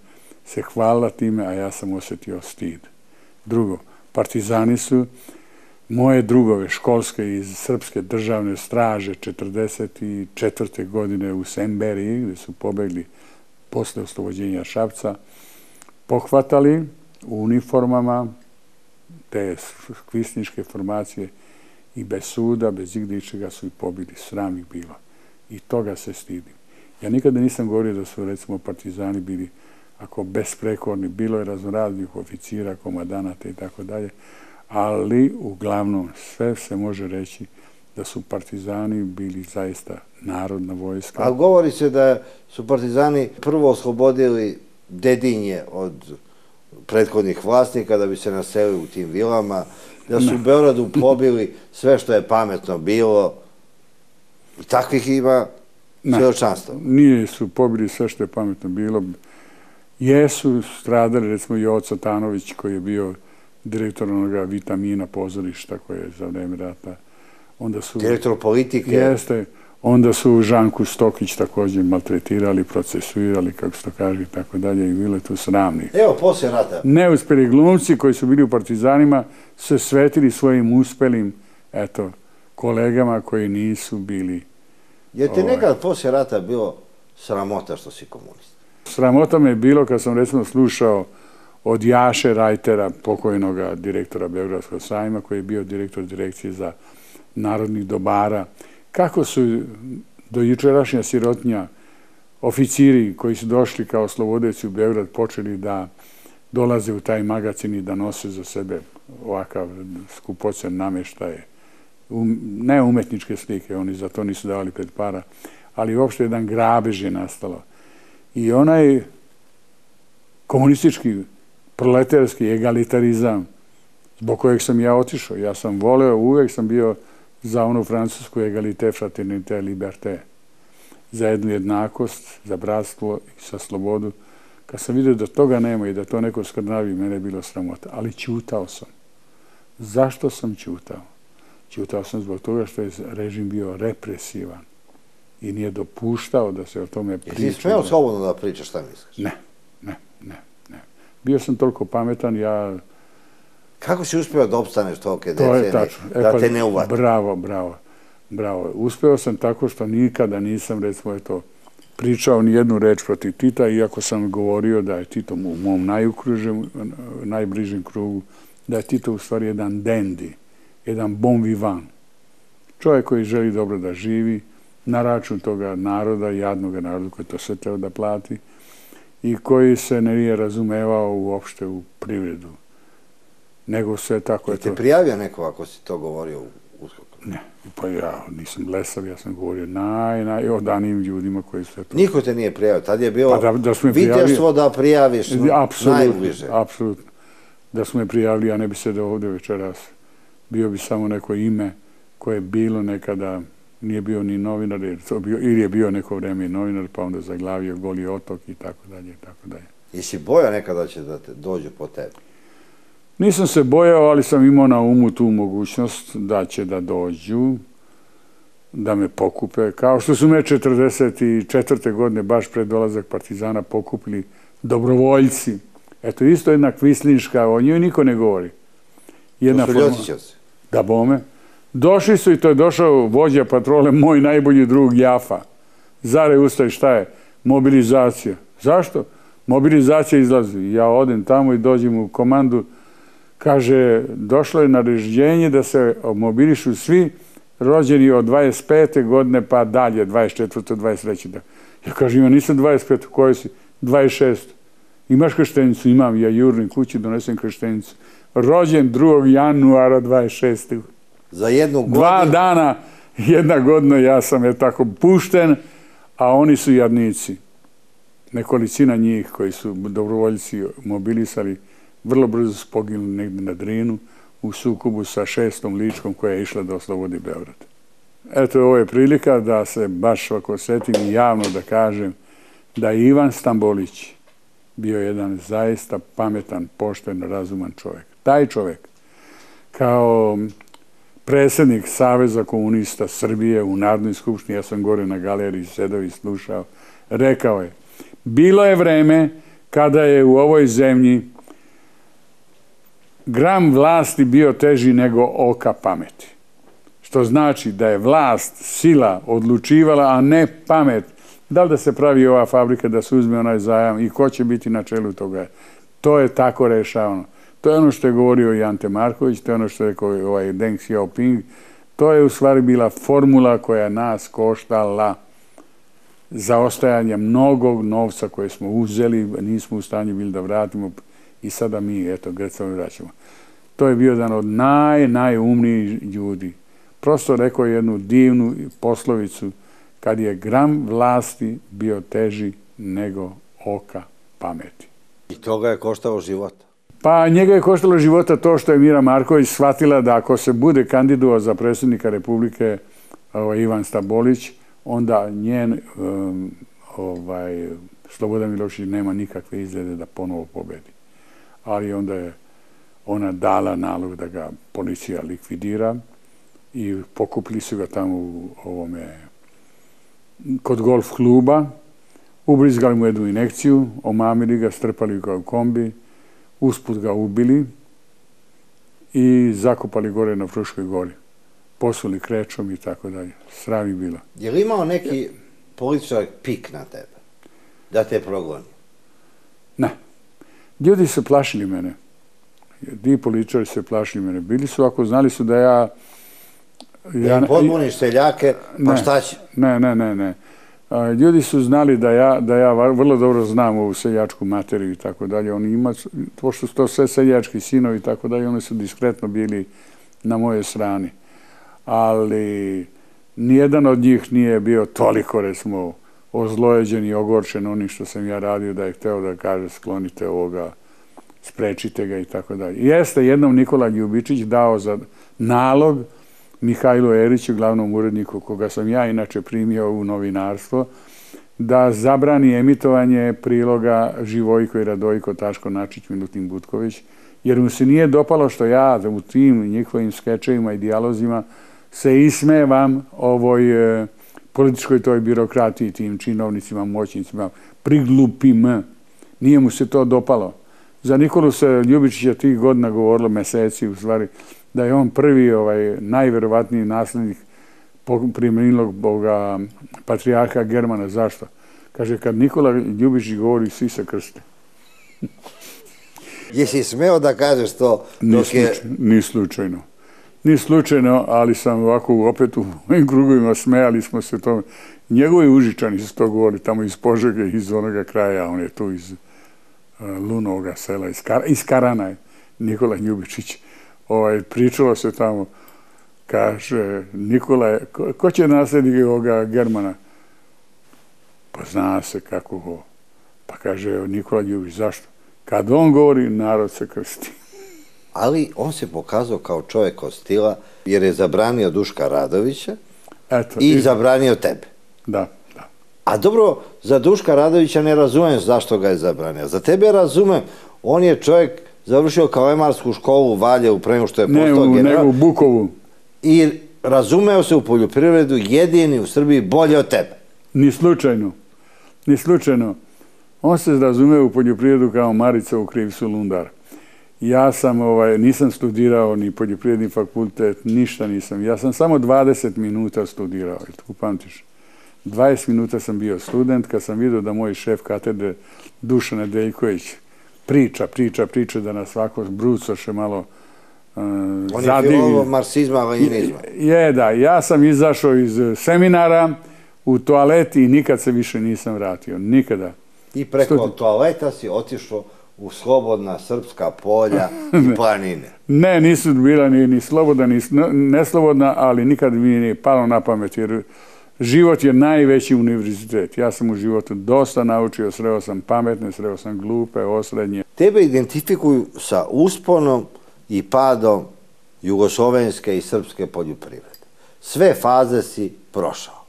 se hvalila time, a ja sam osjetio stid. Drugo, partizani su moje drugove školske iz Srpske državne straže 1944. godine u Semberiji, gde su pobegli posle oslobođenja Šapca, pohvatali u uniformama te kvisničke formacije i bez suda, bez igde ičega su ih pobili, sram ih bilo. I toga se stidim. Ja nikada nisam govorio da su, recimo, partizani bili ako besprekorni, bilo je raznoraznih oficira, komadanata i tako dalje, ali uglavnom sve se može reći da su partizani bili zaista narodna vojska. A govori se da su partizani prvo oslobodili Dedinje od prethodnih vlasnika da bi se naselili u tim vilama, da su u Beogradu pobili sve što je pametno bilo. I takvih ima svedočanstva. Nije su pobili sve što je pametno bilo. Jesu stradali, recimo, Joco Tanović, koji je bio direktor onoga Vitamina pozorišta koje je za vreme rata. Direktor politike. Jeste. Onda su Žanku Stokić također maltretirali, procesuirali, kako se to kaže, i tako dalje, i bile tu sramni. Evo, poslije rata. Neuspjeli glumci koji su bili u partizanima se svetili svojim uspelim, eto, kolegama koji nisu bili... Je ti nekad poslije rata bilo sramota što si komunist? Sramota me je bilo kad sam, recimo, slušao od Jaše Rajtera, pokojnog direktora Beogradskog sajma, koji je bio direktor direkcije za narodnih dobara, kako su do jučerašnja sirotnja oficiri koji su došli kao slobodeci u Beograd počeli da dolaze u taj magacin i da nose za sebe ovakav skupocen namještaj. Ne umetničke slike, oni za to nisu davali pred para, ali uopšte jedan grabež je nastalo. I onaj komunistički, proletarski egalitarizam zbog kojeg sam ja otišao, ja sam voleo, uvek sam bio za onu francusku egalité, fraternité, liberté, za jednu jednakost, za bratstvo i za slobodu. Kad sam vidio da toga nema i da to neko skrnavi, mene je bilo sramota. Ali ćutao sam. Zašto sam ćutao? Ćutao sam zbog toga što je režim bio represivan i nije dopuštao da se o tome priča. Jesi smeo slobodno da pričaš šta misliš? Ne. Bio sam toliko pametan, Kako si uspio da opstaneš tolike decenije, da te ne uvati? Bravo. Uspeo sam tako što nikada nisam, recimo, pričao ni jednu reč protiv Tita, iako sam govorio da je Tito u mom najbližem krugu, da je Tito u stvari jedan dandy, jedan bon vivant. Čovjek koji želi dobro da živi na račun toga naroda, jadnog naroda koji to sve treba da plati i koji se nije razumevao uopšte u privredu. Nego sve tako je to. Te prijavio neko ako si to govorio u USKOK-u? Ne, pa ja nisam blesav, ja sam govorio najodanijim ljudima koji su to... Niko te nije prijavio, tad je bilo viteštvo da prijaviš najbliže. Apsolutno. Da su me prijavili, ja ne bi sedeo ovdje večeras. Bio bi samo neko ime koje je bilo nekada, nije bio ni novinar, ili je bio neko vreme i novinar, pa onda zaglavio Goli otok i tako dalje i tako dalje. Jesi bojao nekada će da te dođu po tebi? Nisam se bojao, ali sam imao na umu tu mogućnost da će da dođu, da me pokupe. Kao što su me 1944. godine, baš pred dolazak partizana, pokupili dobrovoljci. Eto, isto jedna kvislinška, o njoj niko ne govori. To su Ljocićevci? Da, bome. Došli su i to je došao vođa patrole, moj najbolji drug Jafa. Zare ustaj, šta je? Mobilizacija. Zašto? Mobilizacija izlazi. Ja odem tamo i dođem u komandu. Kaže, došlo je naređenje da se mobilišu svi rođeni od 25. godine pa dalje, 24. 23. Ja kažem, ja nisam 25. U kojoj si? 26. Imaš krštenicu? Imam. Ja jurnim kući, donesem krštenicu. Rođen 2. januara 26. Za jednu godinu? 2 dana, 1 godina, ja sam tako pušten, a oni su jadnici. Nekolicina njih koji su dobrovoljci mobilisali, vrlo brzo su poginuli negdje na Drinu u sukobu sa 6. Ličkom koja je išla da oslobodi Beograd. Eto, ovo je prilika da se baš ovako setim i javno da kažem da je Ivan Stambolić bio jedan zaista pametan, pošten, razuman čovjek. Taj čovjek, kao predsjednik Saveza komunista Srbije u Narodnoj skupštini, ja sam gore na galeriji sedao i slušao, rekao je, bilo je vreme kada je u ovoj zemlji gram vlasti bio teži nego oka pameti. Što znači da je vlast, sila odlučivala, a ne pamet. Da li da se pravi ova fabrika, da se uzme onaj zajam i ko će biti na čelu toga. To je tako rešavano. To je ono što je govorio i Ante Marković, to je ono što je rekao ovaj Deng Xiaoping. To je u stvari bila formula koja nas koštala zaostajanje mnogog novca koje smo uzeli, nismo u stanju bili da vratimo i sada mi, eto, Grecamo vraćamo. To je bio jedan od najumnijih ljudi. Prosto rekao jednu divnu poslovicu, kad je gram vlasti bio teži nego oka pameti. I to ga je koštalo života? Pa njega je koštalo života to što je Mira Marković shvatila da ako se bude kandidovao za predsjednika Republike Ivan Stambolić, onda njen Slobodan Milošević nema nikakve izglede da ponovo pobedi. Ali onda je ona dala nalog da ga policija likvidira i pokupili su ga tamo u kod golf kluba, ubrizgali mu jednu injekciju, omamili ga, strpali ga u kombi, usput ga ubili i zakopali gore na Fruškoj gori. Posuli krečom i tako dalje. Sram je bilo. Je li imao neki političar pik na tebe? Da te progoni? Ne. Ljudi su plašili mene. Ti političari su plašili mene. Bili su, ako znali su da ja... Da im podmuniš seljake, pa šta će? Ne. Ljudi su znali da ja vrlo dobro znam ovu seljačku materiju i tako dalje. Oni imaju, pošto su to sve seljački sinovi i tako dalje, oni su diskretno bili na moje strani. Ali nijedan od njih nije bio toliko, recimo, ozlojeđen i ogorčen onim što sam ja radio, da je hteo da kaže sklonite ovoga, sprečite ga i tako dalje. Jeste jednom Nikola Ljubičić dao za nalog Mihajlu Eriću, glavnom uredniku, koga sam ja inače primio u novinarstvo, da zabrani emitovanje priloga Živojko i Radojko, Taško Načić, Milutin Butković, jer mu se nije dopalo što ja u tim njihovim skečevima i dijalozima se ismevam ovoj političkoj toj birokratiji, tim činovnicima, moćnicima, priglupim. Nije mu se to dopalo. Za Nikolu se Ljubičića tih godina govorilo, meseci u stvari, da je on prvi, najverovatniji naslednik preminulog boga patrijarha Germana. Zašto? Kaže, kad Nikola Ljubičić govori, svi se krste. Jesi smeo da kažeš to? Ni slučajno. Ni slučajno, ali sam ovako opet u mojim krugovima smejali smo se tome. Njegovi Užičani su to govorili tamo iz Požege, iz onoga kraja, on je tu iz Lunovoga sela, iz Karana je Nikola Ljubičić. Pričalo se tamo, kaže, Nikola, ko će naslediti ovoga Germana? Pa zna se kako go. Pa kaže Nikola Ljubičić, zašto? Kad on govori, narod se krsti. Ali on se pokazao kao čovjek od stila, jer je zabranio Duška Radovića i zabranio tebe. Da. A dobro, za Duška Radovića ne razumem zašto ga je zabranio. Za tebe razumem, on je čovjek završio Kalemarsku školu u Valjevu pre nego što je postao general. Nego u Bukovu. I razumeo se u poljoprivredu jedini u Srbiji bolje od tebe. Ni slučajno. Ni slučajno. On se razumeo u poljoprivredu kao Marica u Krivcu Lundar. Ja sam, nisam studirao ni poljoprivredni fakultet, ništa nisam. Ja sam samo 20 minuta studirao, ili tako pamtiš? 20 minuta sam bio student, kad sam vidio da moj šef katedre Dušan Nedeljković priča, da nas svako brucoše malo zadivi. On je filolog marksizma, lenjinizma. Da. Ja sam izašao iz seminara u toalet i nikad se više nisam vratio. Nikada. I preko toaleta si otišao u slobodna srpska polja i planine. Ne, nisu bila ni slobodna, ni neslobodna, ali nikad mi nije palo na pamet, jer život je najveći univerzitet. Ja sam u životu dosta naučio, sreo sam pametne, sreo sam glupe, osrednje. Tebe identifikuju sa usponom i padom jugoslovenske i srpske poljoprivrede. Sve faze si prošao.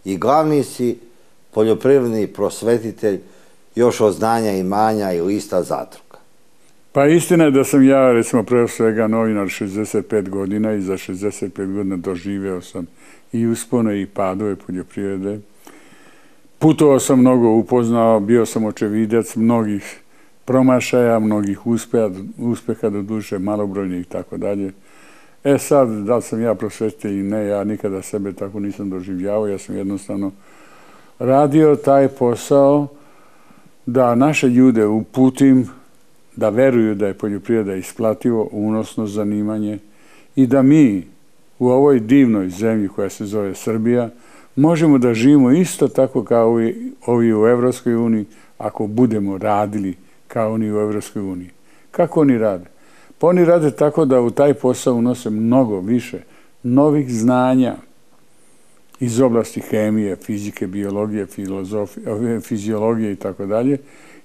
I glavni si poljoprivredni prosvetitelj još od znanja imanja i lista zadruga. Pa istina je da sam ja, recimo, pre svega novinar 65 godina i za 65 godina doživeo sam i uspone i padove poljoprivrede. Putovao sam mnogo, upoznao, bio sam očevidac mnogih promašaja, mnogih uspeha do duše, malobrojnih i tako dalje. Sad, da li sam ja prosvetitelj i ne, ja nikada sebe tako nisam doživljavao, ja sam jednostavno radio taj posao da naše ljude uputim, da veruju da je poljoprivreda isplativo, unosno zanimanje i da mi u ovoj divnoj zemlji koja se zove Srbija možemo da živimo isto tako kao ovi u Evropskoj uniji ako budemo radili kao oni u Evropskoj uniji. Kako oni rade? Pa oni rade tako da u taj posao unose mnogo više novih znanja iz oblasti hemije, fizike, biologije, fiziologije i tako dalje.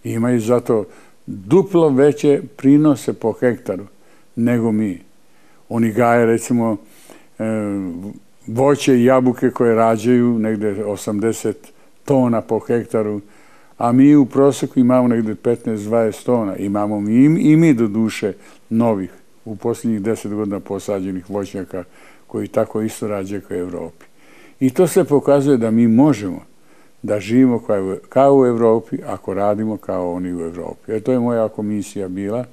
Imaju zato duplo veće prinose po hektaru nego mi. Oni gaje, recimo, voće i jabuke koje rađaju negde 80 tona po hektaru, a mi u proseku imamo negde 15-20 tona. Imamo i mi do duše novih u posljednjih 10 godina posađenih voćnjaka koji tako isto rađaju kao u Evropi. I to se pokazuje da mi možemo da živimo kao u Evropi ako radimo kao oni u Evropi. Jer to je moja komisija bila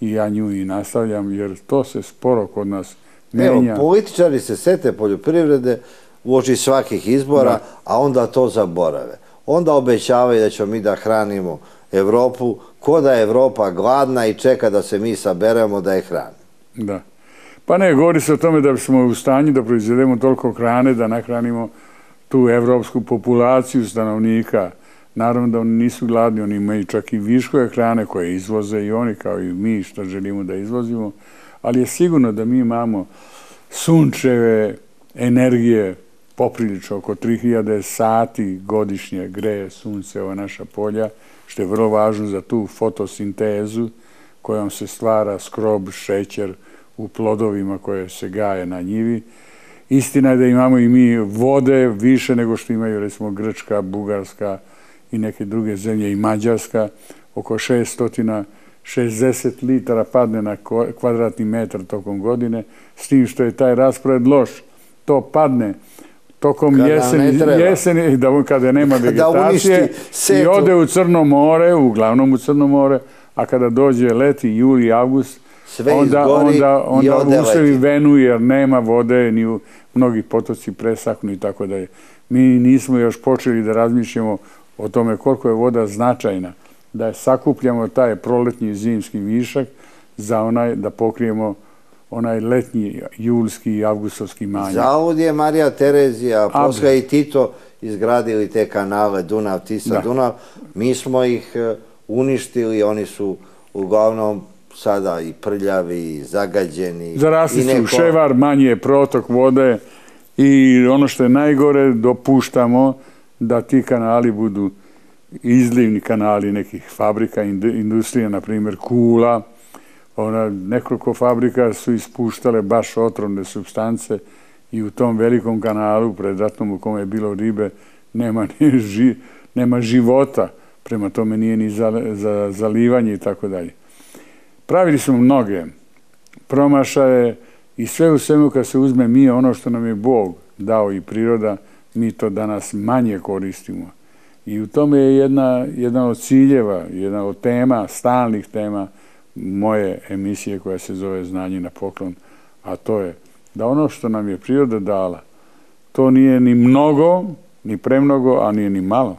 i ja nju i nastavljam, jer to se sporo kod nas menja. Evo, političari se sete poljoprivrede uoči svakih izbora, a onda to zaborave. Onda obećavaju da ćemo mi da hranimo Evropu, ko da je Evropa gladna i čeka da se mi saberemo da je hranimo. Da. Pa ne, govori se o tome da smo u stanju da proizvedemo toliko hrane, da nahranimo tu evropsku populaciju stanovnika. Naravno da oni nisu gladni, oni imaju čak i viškove hrane koje izvoze i oni kao i mi što želimo da izvozimo, ali je sigurno da mi imamo sunčeve energije poprilično, oko 3000 sati godišnje greje sunce ova naša polja, što je vrlo važno za tu fotosintezu kojom se stvara skrob, šećer u plodovima koje se gaje na njivi. Istina je da imamo i mi vode više nego što imaju recimo Grčka, Bugarska i neke druge zemlje i Mađarska. Oko 660 litara padne na kvadratni metar tokom godine, s tim što je taj raspored loš. To padne tokom jeseni, kada nema vegetacije, i ode u Crno more, uglavnom u Crno more, a kada dođe leti, juli i avgust, onda usrevi venu jer nema vode, ni mnogi potoci presahnu i tako dalje. Mi nismo još počeli da razmišljamo o tome koliko je voda značajna, da sakupljamo taj proletnji i zimski višak za da pokrijemo onaj letnji, julski i avgustovski manjak. Zavod je Marija Terezija, posle i Tito izgradili te kanale Dunav, Tisa, Dunav. Mi smo ih uništili, oni su uglavnom sada i prljavi, i zagađeni. Zarasli su ševar, manji je protok vode i ono što je najgore, dopuštamo da ti kanali budu izlivni kanali nekih fabrika, industrije, na primjer Kula. Nekoliko fabrika su ispuštale baš otrovne supstance i u tom velikom kanalu predratnom u kome je bilo ribe nema života, prema tome nije ni za zalivanje i tako dalje. Pravili smo mnoge promašaje i sve u svemu kad se uzme mi ono što nam je Bog dao i priroda, mi to danas manje koristimo. I u tome je jedna od ciljeva, jedna od tema, stalnih tema moje emisije koja se zove Znanje na poklon, a to je da ono što nam je priroda dala, to nije ni mnogo, ni premnogo, a nije ni malo,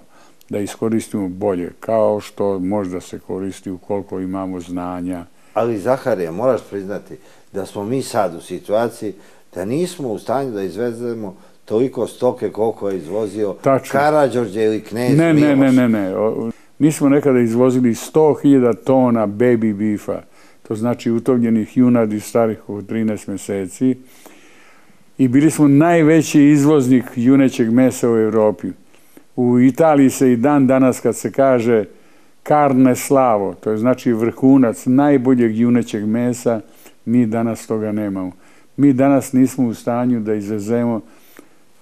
da iskoristimo bolje, kao što možda se koristi ukoliko imamo znanja. Ali Zaharije, moraš priznati da smo mi sad u situaciji da nismo u stanju da izvezemo toliko stoke koliko je izvozio Karađorđe ili knez Miloš. Ne. Mi smo nekada izvozili 100.000 tona baby beefa, to znači utovljenih junadi starih od 13 mjeseci, i bili smo najveći izvoznik junećeg mesa u Europi. U Italiji se i dan danas kad se kaže carne slavo, to je znači vrhunac najboljeg junećeg mesa, mi danas toga nemamo. Mi danas nismo u stanju da izvezemo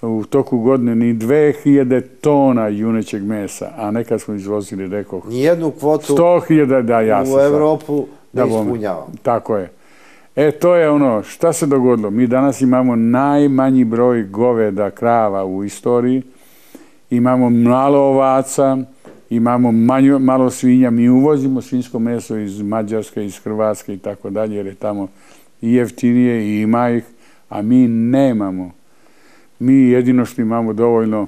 u toku godine ni 2000 tona junećeg mesa, a nekad smo izvozili, rekao, nijednu kvotu 100.000 u Evropu ne ispunjavamo. Tako je. To je ono, šta se dogodilo? Mi danas imamo najmanji broj goveda, krava u istoriji, imamo malo ovaca, imamo malo svinja, mi uvozimo svinjsko meso iz Mađarske, iz Hrvatske i tako dalje, jer je tamo i jeftinije i ima ih, a mi nemamo. Mi jedino što imamo dovoljno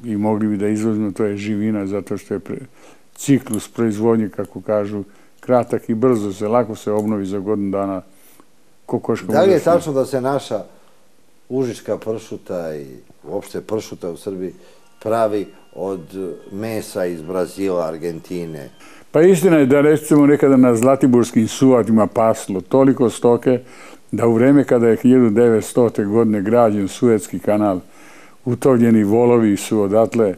i mogli bi da izvozimo, to je živina, zato što je ciklus proizvodnje, kako kažu, kratak i brzo se, lako se obnovi za godinu dana. Da li je tačno da se naša užička pršuta i uopšte pršuta u Srbiji pravi od mesa iz Brazila, Argentine? Pa istina je da recimo nekada na Zlatiborskim suvatima paslo toliko stoke da u vreme kada je 1900. godine građen Suetski kanal, utovljeni volovi su odatle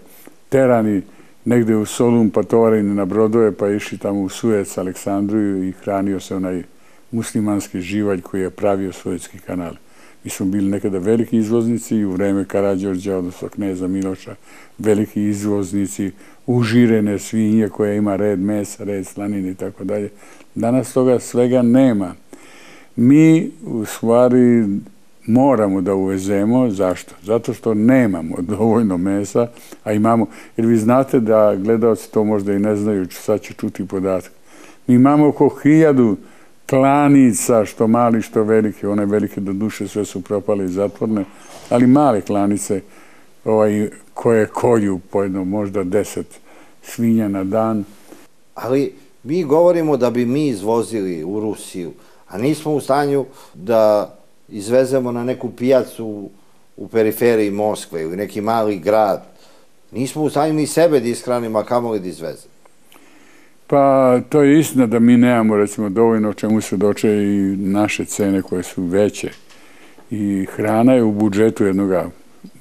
terani negde u Solun, pa tovareni na brodove, pa išli tamo u Suec, Aleksandriju, i hranio se onaj muslimanski živalj koji je pravio Suetski kanal. Mi smo bili nekada veliki izvoznici i u vreme Karađorđa, odnosno kneza Miloša, veliki izvoznici užirene svinje koja ima red mesa, red slanine i tako dalje. Danas toga svega nema. Mi u stvari moramo da uvezemo. Zašto? Zato što nemamo dovoljno mesa, a imamo, jer vi znate da gledalci to možda i ne znaju, sad ću čuti podatak. Mi imamo oko 1000 klanica, što mali, što velike. One velike do duše sve su propale i zatvorne, ali male klanice koje kolju po jedno, možda 10 svinja na dan. Ali mi govorimo da bi mi izvozili u Rusiju, a nismo u stanju da izvezemo na neku pijacu u periferiji Moskve, u neki mali grad, nismo u stanju ni sebe da ishranimo, a kamoli da izvezemo. Pa to je istina da mi nemamo recimo dovoljno, o čemu se doče i naše cene koje su veće. I hrana je u budžetu jednog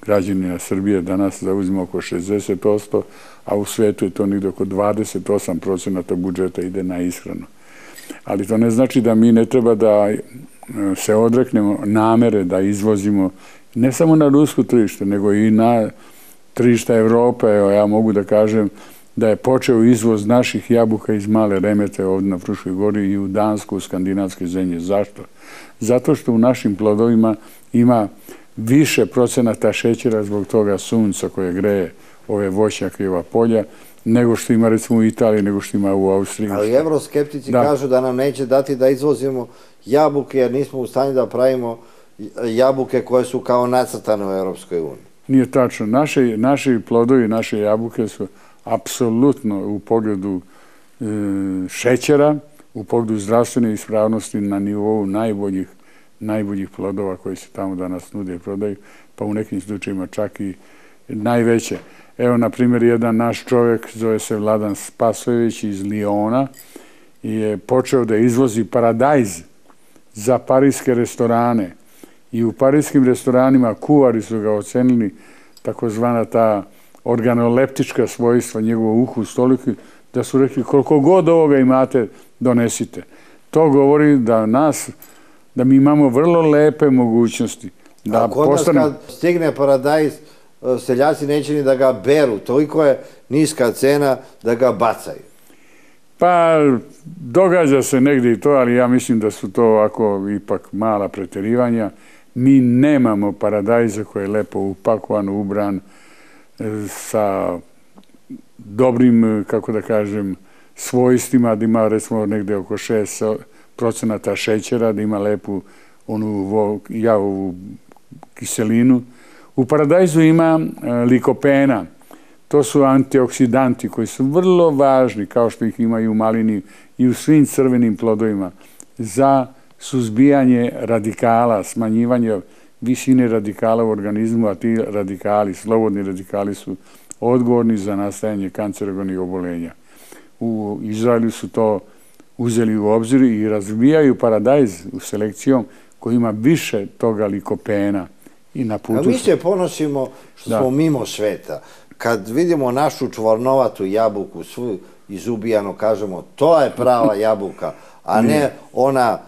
građanina Srbije danas zauzima oko 60%, a u svetu je to negdje oko 28% budžeta ide na ishranu. Ali to ne znači da mi ne treba da se odreknemo namere da izvozimo ne samo na rusko tržište, nego i na tržište Evrope. Evo, ja mogu da kažem da je počeo izvoz naših jabuka iz Male Remete ovdje na Fruškoj gori i u Dansku, u skandinavske zemlje. Zašto? Zato što u našim plodovima ima više procenata šećera zbog toga sunca koje greje ove voćnjake i ova polja, nego što ima recimo u Italiji, nego što ima u Austriji. Ali evroskeptici kažu da nam neće dati da izvozimo jabuke jer nismo u stanju da pravimo jabuke koje su kao nacrtane u Europskoj uniji. Nije tačno. Naši plodovi, naše jabuke su apsolutno u pogledu šećera, u pogledu zdravstvene ispravnosti na nivou najboljih plodova koji se tamo danas nude i prodaju, pa u nekim slučajima čak i najveće. Evo, na primjer, jedan naš čovjek, zove se Vladan Spasojević iz Liona, je počeo da izvozi paradajz za parijske restorane. I u parijskim restoranima kuvari su ga ocenili takozvana ta organoleptička svojstva, njegovo ukus toliki, da su rekli koliko god ovoga imate, donesite. To govori da mi imamo vrlo lepe mogućnosti. A kod nas kad stigne paradajz, seljaci neće ni da ga beru, toliko je niska cena da ga bacaju. Pa, događa se negdje i to, ali ja mislim da su to ovako ipak mala preterivanja. Mi nemamo paradajza koji je lepo upakovan, ubran, sa dobrim, kako da kažem, svojstvima, da ima recimo negdje oko 6% šećera, da ima lepu onu jaovu kiselinu. U paradajzu ima likopena. To su antioksidanti koji su vrlo važni, kao što ih ima i u malini i u svim crvenim plodovima, za suzbijanje radikala, smanjivanje visine radikala u organizmu, a ti radikali, slobodni radikali su odgovorni za nastajanje kancerogenih obolenja. U Izraelu su to uzeli u obzir i razvijaju paradajz u selekcijom koji ima više toga likopena. A mi se ponosimo što smo mimo sveta. Kad vidimo našu čvornovatu jabuku, svu izubijano, kažemo to je prava jabuka, a ne ona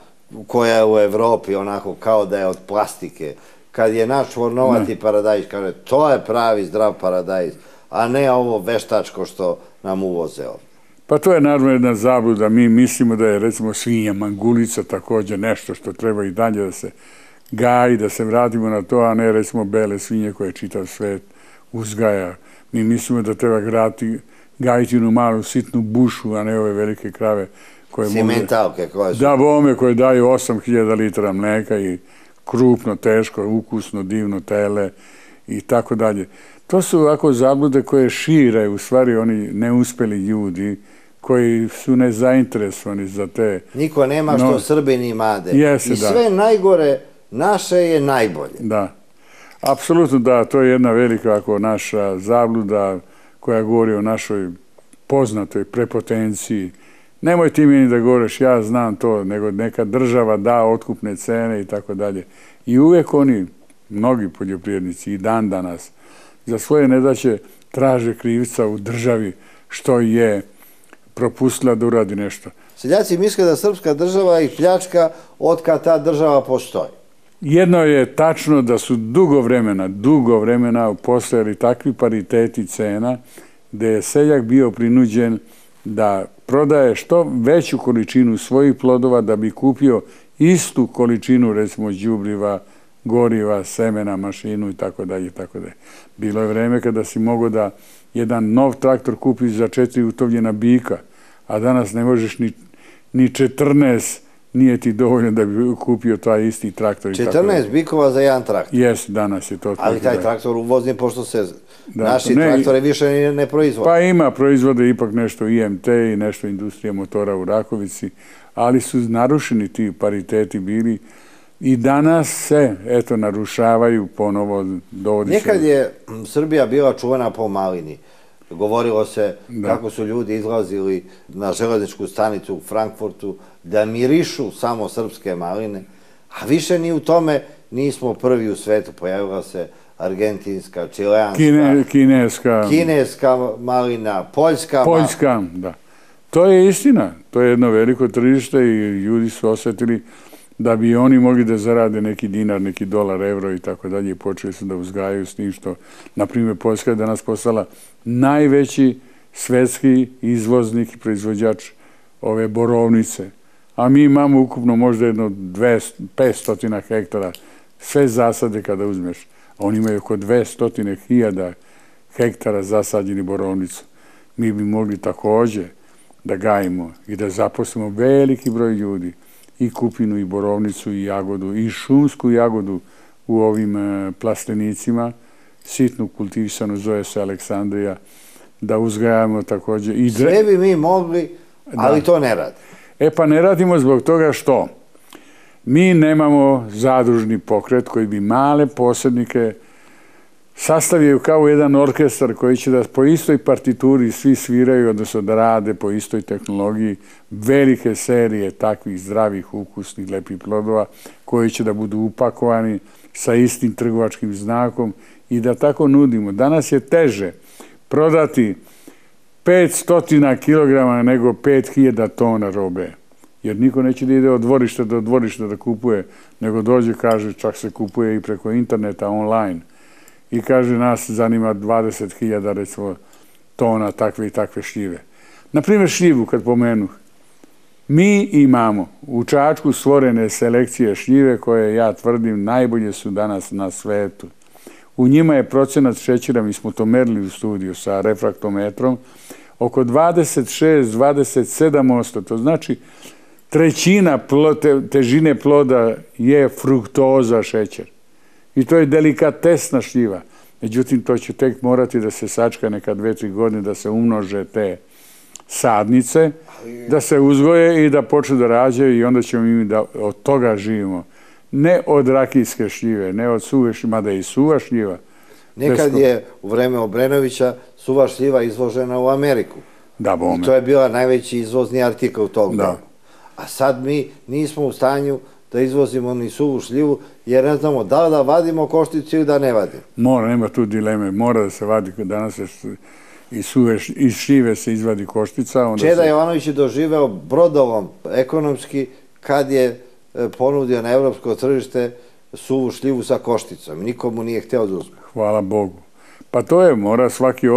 koja je u Evropi, onako kao da je od plastike. Kad je naš čvornovati paradajz, kaže to je pravi zdrav paradajz, a ne ovo veštačko što nam uvoze ovdje. Pa to je naravno jedna zabluda. Mi mislimo da je recimo svinja mangulica također nešto što treba i dalje da se gaji, da se vratimo na to, a ne recimo bele svinje koje čitav svet uzgaja. Mi mislimo da treba gajiti jednu malu sitnu bušu, a ne ove velike krave koje cimentalke koje su. Da, bome koje daju 8000 litara mleka i krupno, teško, ukusno, divno tele i tako dalje. To su ovako zablude koje šire u stvari oni neuspeli ljudi koji su nezainteresovani za te. Niko nema što Srbini imade. I sve najgore naše je najbolje. Da, apsolutno da, to je jedna velika naša zabluda koja govori o našoj poznatoj prepotenciji. Nemoj ti meni da govoriš, ja znam to, nego neka država da otkupne cene i tako dalje. I uvijek oni, mnogi poljoprivrednici i dan danas, za svoje nedaće traže krivca u državi što je propustila da uradi nešto. Seljaci misle da srpska država i pljačka otkad ta država postoji. Jedno je tačno da su dugo vremena postojali takvi pariteti cena gde je seljak bio prinuđen da prodaje što veću količinu svojih plodova da bi kupio istu količinu, recimo, đubriva, goriva, semena, mašinu i tako dalje. Bilo je vreme kada si mogao da jedan nov traktor kupiš za 4 utovljena bika, a danas ne možeš ni 14, nije ti dovoljno da bi kupio taj isti traktor. 14 bikova za jedan traktor? Jes, danas je to. Ali taj traktor uvozni, pošto se naši traktore više ne proizvode. Pa ima, proizvode ipak nešto IMT i nešto industrija motora u Rakovici, ali su narušeni ti pariteti bili I danas se, eto, narušavaju ponovo, dovodi se... Nekad je Srbija bila čuvena po malini. Govorilo se kako su ljudi izlazili na železničku stanicu u Frankfurtu da mirišu samo srpske maline, a više ni u tome nismo prvi u svetu. Pojavila se argentinska, čileanska, kineska malina, poljska. Poljska, da. To je istina. To je jedno veliko tržište i ljudi su osjetili da bi oni mogli da zarade neki dinar, neki dolar, evro i tako dalje i počeli su da uzgajaju s tim što, na primjer, Poljska je danas postala najveći svetski izvoznik i proizvođač ove borovnice. A mi imamo ukupno možda jedno 500 hektara, sve zasade kada uzmeš. A oni imaju oko 200.000 hektara zasađeni borovnicu. Mi bi mogli također da gajimo i da zaposlimo veliki broj ljudi, i kupinu, i borovnicu, i jagodu, i šumsku jagodu u ovim plastenicima, sitnu kultivisanu, zove se Aleksandrija, da uzgajamo također. Sve bi mi mogli, ali to ne radi. E pa ne radimo zbog toga što mi nemamo zadružni pokret koji bi male posrednike sastavio kao jedan orkestar koji će da po istoj partituri svi sviraju, odnosno da rade po istoj tehnologiji velike serije takvih zdravih, ukusnih, lepih plodova koji će da budu upakovani sa istim trgovačkim znakom i da tako nudimo. Danas je teže prodati 500 kg nego 5000 tona robe. Jer niko neće da ide od dvorišta do dvorišta da kupuje, nego dođe, kaže, čak se kupuje i preko interneta, online. I kaže, nas zanima 20.000, recimo, tona takve i takve šljive. Naprimjer, šljivu, kad pomenu. Mi imamo u Čačku stvorene selekcije šljive koje, ja tvrdim, najbolje su danas na svetu. U njima je procenat šećera, mi smo to merili u studiju sa refraktometrom, oko 26-27%. To znači, trećina težine ploda je fruktoza šećer. I to je delikatesna šljiva. Međutim, to će tek morati da se sačka neka 2-3 godine, da se umnože te sadnice, da se uzgoje i da počnu da rađaju i onda ćemo mi da od toga živimo. Ne od rakijske šljive, ne od suve šljive, mada i suva šljiva. Nekad je u vreme Obrenovića suva šljiva izvožena u Ameriku. Da, bome. I to je bila najveći izvozni artikl tog dana. A sad mi nismo u stanju da izvozimo ni suvu šljivu, jer ne znamo da li da vadimo košticu ili da ne vadimo. Mora, nema tu dileme, mora da se vadi, danas iz šljive se izvadi koštica. Čeda Jovanović je doživeo brodolom ekonomski kad je ponudio na evropsko tržište suvu šljivu sa košticom. Nikomu nije hteo da uzme. Hvala Bogu. Pa to je, mora svaki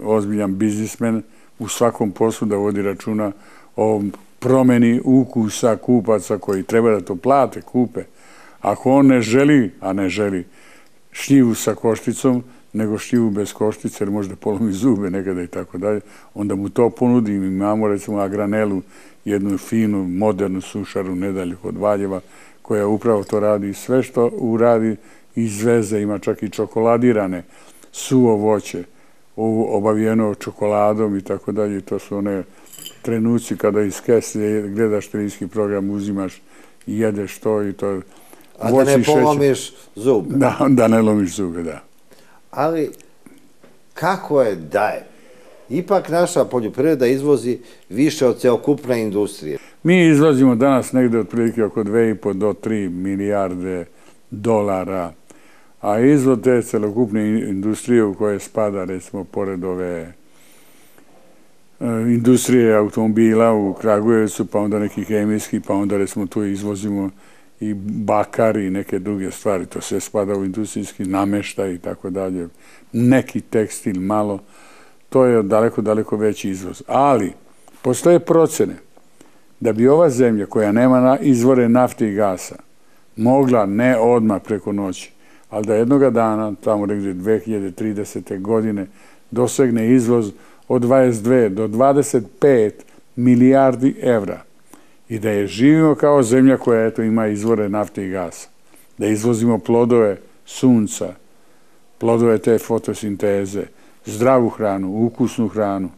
ozbiljan biznismen u svakom poslu da vodi računa o promeni ukusa kupaca koji treba da to plate, kupe. Ako on ne želi, a ne želi šljivu sa košticom, nego šljivu bez koštice, jer možda polomi zube nekada i tako dalje, onda mu to ponudi. Mi imamo, recimo, Agranelu, jednu finu, modernu sušaru nedaljih od Valjeva, koja upravo to radi. Sve što uradi izveze, ima čak i čokoladirane, suvo voće, obavijeno čokoladom i tako dalje. To su one trenuci kada iz kese gledaš televizijski program, uzimaš i jedeš to i to. A da ne polomiš zube. Da ne lomiš zube, da. Ali kako je da je? Ipak naša poljoprivreda izvozi više od celokupne industrije. Mi izvozimo danas negde otprilike oko 2,5 do 3 milijarde dolara, a izvoz te celokupne industrije u koje spada, recimo, pored ove industrije automobila u Kragujevcu, pa onda neki hemijski, pa onda, recimo, tu izvozimo i bakar i neke druge stvari. To sve spada u industrijski nameštaj i tako dalje. Neki tekstil malo. To je daleko, daleko veći izvoz. Ali, postoje procene da bi ova zemlja koja nema izvore nafte i gasa mogla, ne odmah preko noći, ali da jednoga dana, tamo negdje 2030. godine, dosegne izvoz od 22 do 25 milijardi evra i da je živimo kao zemlja koja eto ima izvore nafte i gasa, da izvozimo plodove sunca, plodove te fotosinteze, zdravu hranu, ukusnu hranu.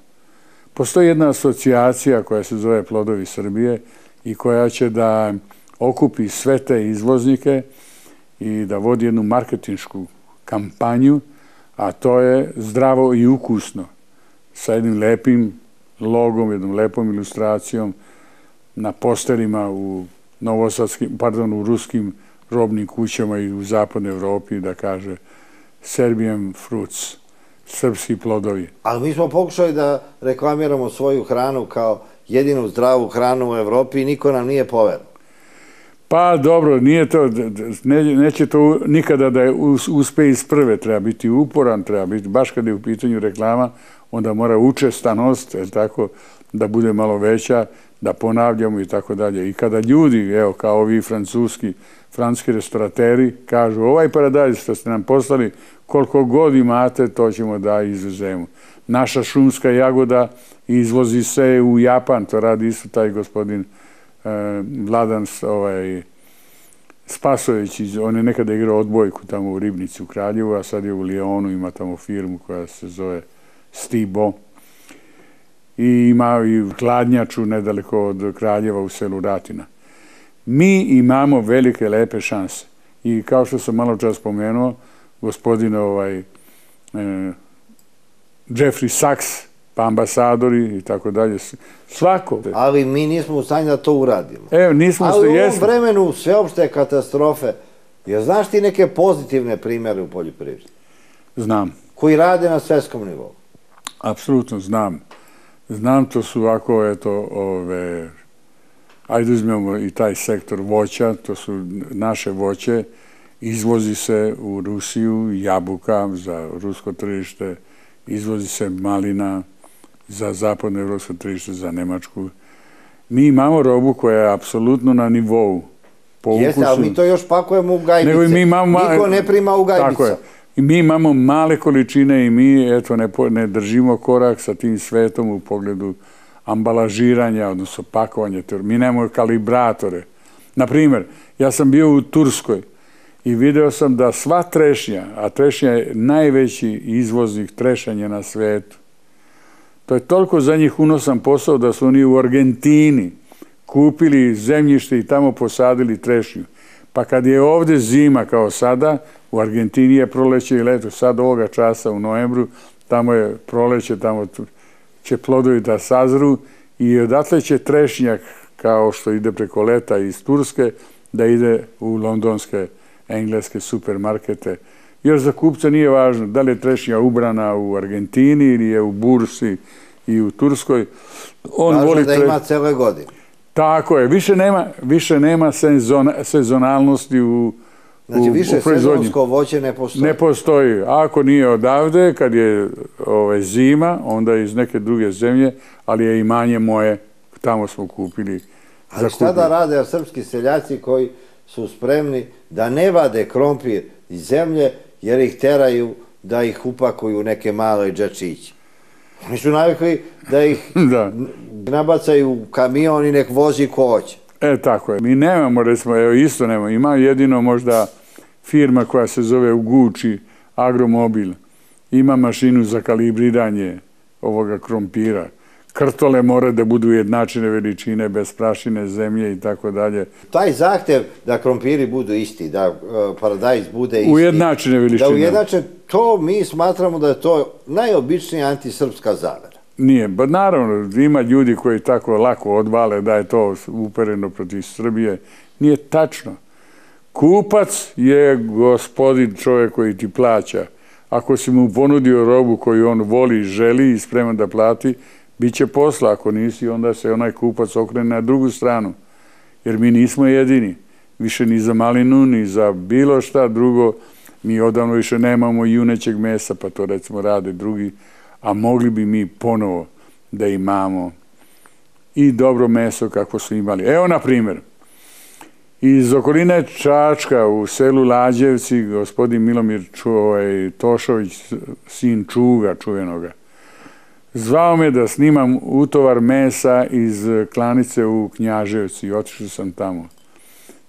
Postoji jedna asocijacija koja se zove Plodovi Srbije i koja će da okupi sve te izvoznike i da vodi jednu marketinšku kampanju, a to je zdravo i ukusno, sa jednim lepim logom, jednom lepom ilustracijom na posterima u u ruskim robnim kućama i u zapadnoj Evropi, da kaže Serbian fruits, srpski plodovi. Ali mi smo pokušali da reklamiramo svoju hranu kao jedinu zdravu hranu u Evropi i niko nam nije poverovao. Pa dobro, neće to nikada da uspe iz prve, treba biti uporan, treba biti, baš kada je u pitanju reklama, onda mora učestanost, tako, da bude malo veća, da ponavljamo i tako dalje. I kada ljudi, evo, kao ovi francuski restorateri, kažu ovaj paradajz što ste nam poslali, koliko god imate, to ćemo da izvezemo. Naša šumska jagoda izvozi se u Japan, to radi isto taj gospodin Vladan Spasović, on je nekada igrao odbojku tamo u Ribnici u Kraljevu, a sad je u Lijonu, ima tamo firmu koja se zove Stibo. I ima i hladnjaču nedaleko od Kraljeva u selu Ratina. Mi imamo velike, lepe šanse. I kao što sam malo čas spomenuo, gospodin Jeffrey Sachs, pa ambasadori i tako dalje, svako. Ali mi nismo u stanju da to uradimo. Evo, nismo ali u ovom vremenu sveopšte katastrofe, jer znaš ti neke pozitivne primjere u poljoprivredi? Znam. Koji rade na svetskom nivou? Apsolutno znam. Znam, to su ovako, eto, ajde uzmemo i taj sektor voća, to su naše voće, izvozi se u Rusiju jabuka za rusko tržište, izvozi se malina za zapadno evropsko tržište, za Nemačku. Mi imamo robu koja je apsolutno na nivou. Jeste, ali mi to još pakujemo u gajbice. Niko ne prima u gajbica. Tako je. I mi imamo male količine i mi, eto, ne držimo korak sa tim svetom u pogledu ambalažiranja, odnosno pakovanja. Mi nemamo kalibratore. Naprimjer, ja sam bio u Turskoj i video sam da sva trešnja, a trešnja je najveći izvoznik trešanja na svetu, to je toliko za njih unosan posao da su oni u Argentini kupili zemljište i tamo posadili trešnju. Pa kad je ovdje zima kao sada, u Argentini je proleće i leto, sad ovoga časa u novembru, tamo je proleće, tamo će plodovi da sazru i odatle će trešnjak, kao što ide preko leta iz Turske, da ide u londonske, engleske supermarkete. Još za kupca nije važno da li je trešnja ubrana u Argentini ili je u bursi i u Turskoj. Važno da ima cele godine. Tako je, više nema sezonalnosti u znači, više sezonsko voće ne postoji. Ne postoji. A ako nije odavde, kad je zima, onda iz neke druge zemlje, ali je imanje moje, tamo smo kupili. Ali šta da rade srpski seljaci koji su spremni da ne vade krompir iz zemlje, jer ih teraju da ih upakuju u neke male džačiće? Oni su navikli da ih nabacaju u kamion i nek vozi ko hoće. Tako je. Mi nemamo, recimo, evo isto nemamo. Ima jedino možda firma koja se zove u Guči, Agromobil. Ima mašinu za kalibriranje ovoga krompira. Krtole mora da budu jednačine veličine, bez prašine, zemlje i tako dalje. Taj zahtev da krompiri budu isti, da paradajz bude isti. Ujednačine veličine. Da ujednačine, to mi smatramo da je to najobičnija antisrpska zavera. Nije, ba naravno, ima ljudi koji tako lako odvale da je to upereno protiv Srbije. Nije tačno. Kupac je gospodin, čovjek koji ti plaća. Ako si mu ponudio robu koju on voli, želi i spreman da plati, bit će posla. Ako nisi, onda se onaj kupac okrene na drugu stranu. Jer mi nismo jedini. Više ni za malinu, ni za bilo šta drugo. Mi odavno više nemamo junećeg mesa, pa to recimo rade drugi. A mogli bi mi ponovo da imamo i dobro meso kako su imali. Evo, na primjer, iz okoline Čačka u selu Lađevci, gospodin Milomir Tošović, sin Čuga čuvenoga, zvao me da snimam utovar mesa iz klanice u Knjaževci i otišao sam tamo.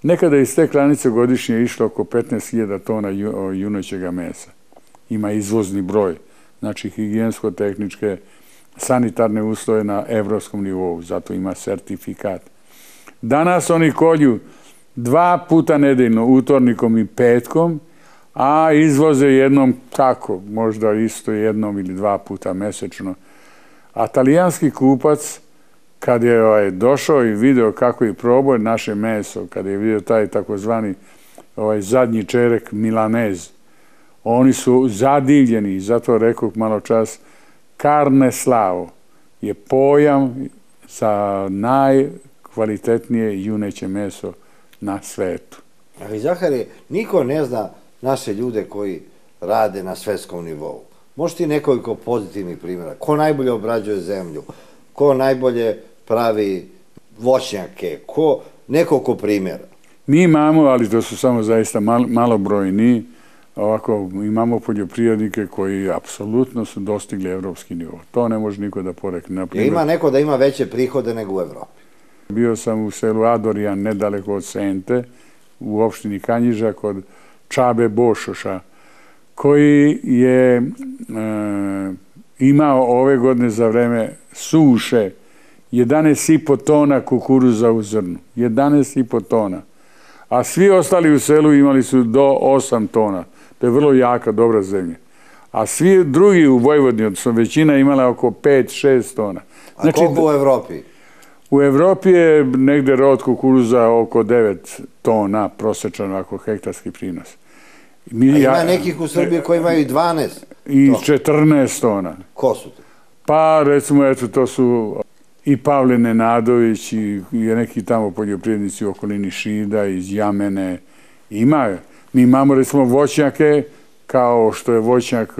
Nekada iz te klanice godišnje išlo oko 15.000 tona junećega mesa. Ima izvozni broj. Znači higijensko-tehničke, sanitarne uslove na evropskom nivou, zato ima sertifikat. Danas oni kolju 2 puta nedeljno, utornikom i petkom, a izvoze jednom, kako, možda isto jednom ili 2 puta mesečno. A talijanski kupac, kad je došao i video kako je probao naše meso, kad je vidio taj takozvani zadnji čerek milanez, oni su zadivljeni, zato rekao malo čas, carne slavo je pojam za najkvalitetnije juneće meso na svetu. Ali Zahari, niko ne zna naše ljude koji rade na svetskom nivou. Možeš ti nekoliko pozitivnih primjera? Ko najbolje obrađuje zemlju? Ko najbolje pravi voćnjake? Nekoliko primjera? Mi imamo, ali to su samo zaista malobrojni, ovako imamo poljoprivrednike koji apsolutno su dostigli evropski nivo. To ne može niko da porekne. Ima neko da ima veće prihode nego u Evropi? Bio sam u selu Adorijan, nedaleko od Sente, u opštini Kanjiža, kod Čabe Bošoša, koji je imao ove godine za vreme suše 11,5 tona kukuruza u zrnu. 11,5 tona. A svi ostali u selu imali su do 8 tona. To je vrlo jaka, dobra zemlja. A svi drugi u Vojvodini, odnosno većina imala oko 5-6 tona. A koliko u Evropi? U Evropi je negde rod kukuruza oko 9 tona prosečan, ako hektarski prinos. Ima nekih u Srbiji koji imaju i 12 i 14 tona. Ko su to? Pa recimo, eto, to su i Pavle Nenadović i neki tamo poljoprivrednici u okolini Šida, iz Jamene. Mi imamo recimo voćnjake, kao što je voćnjak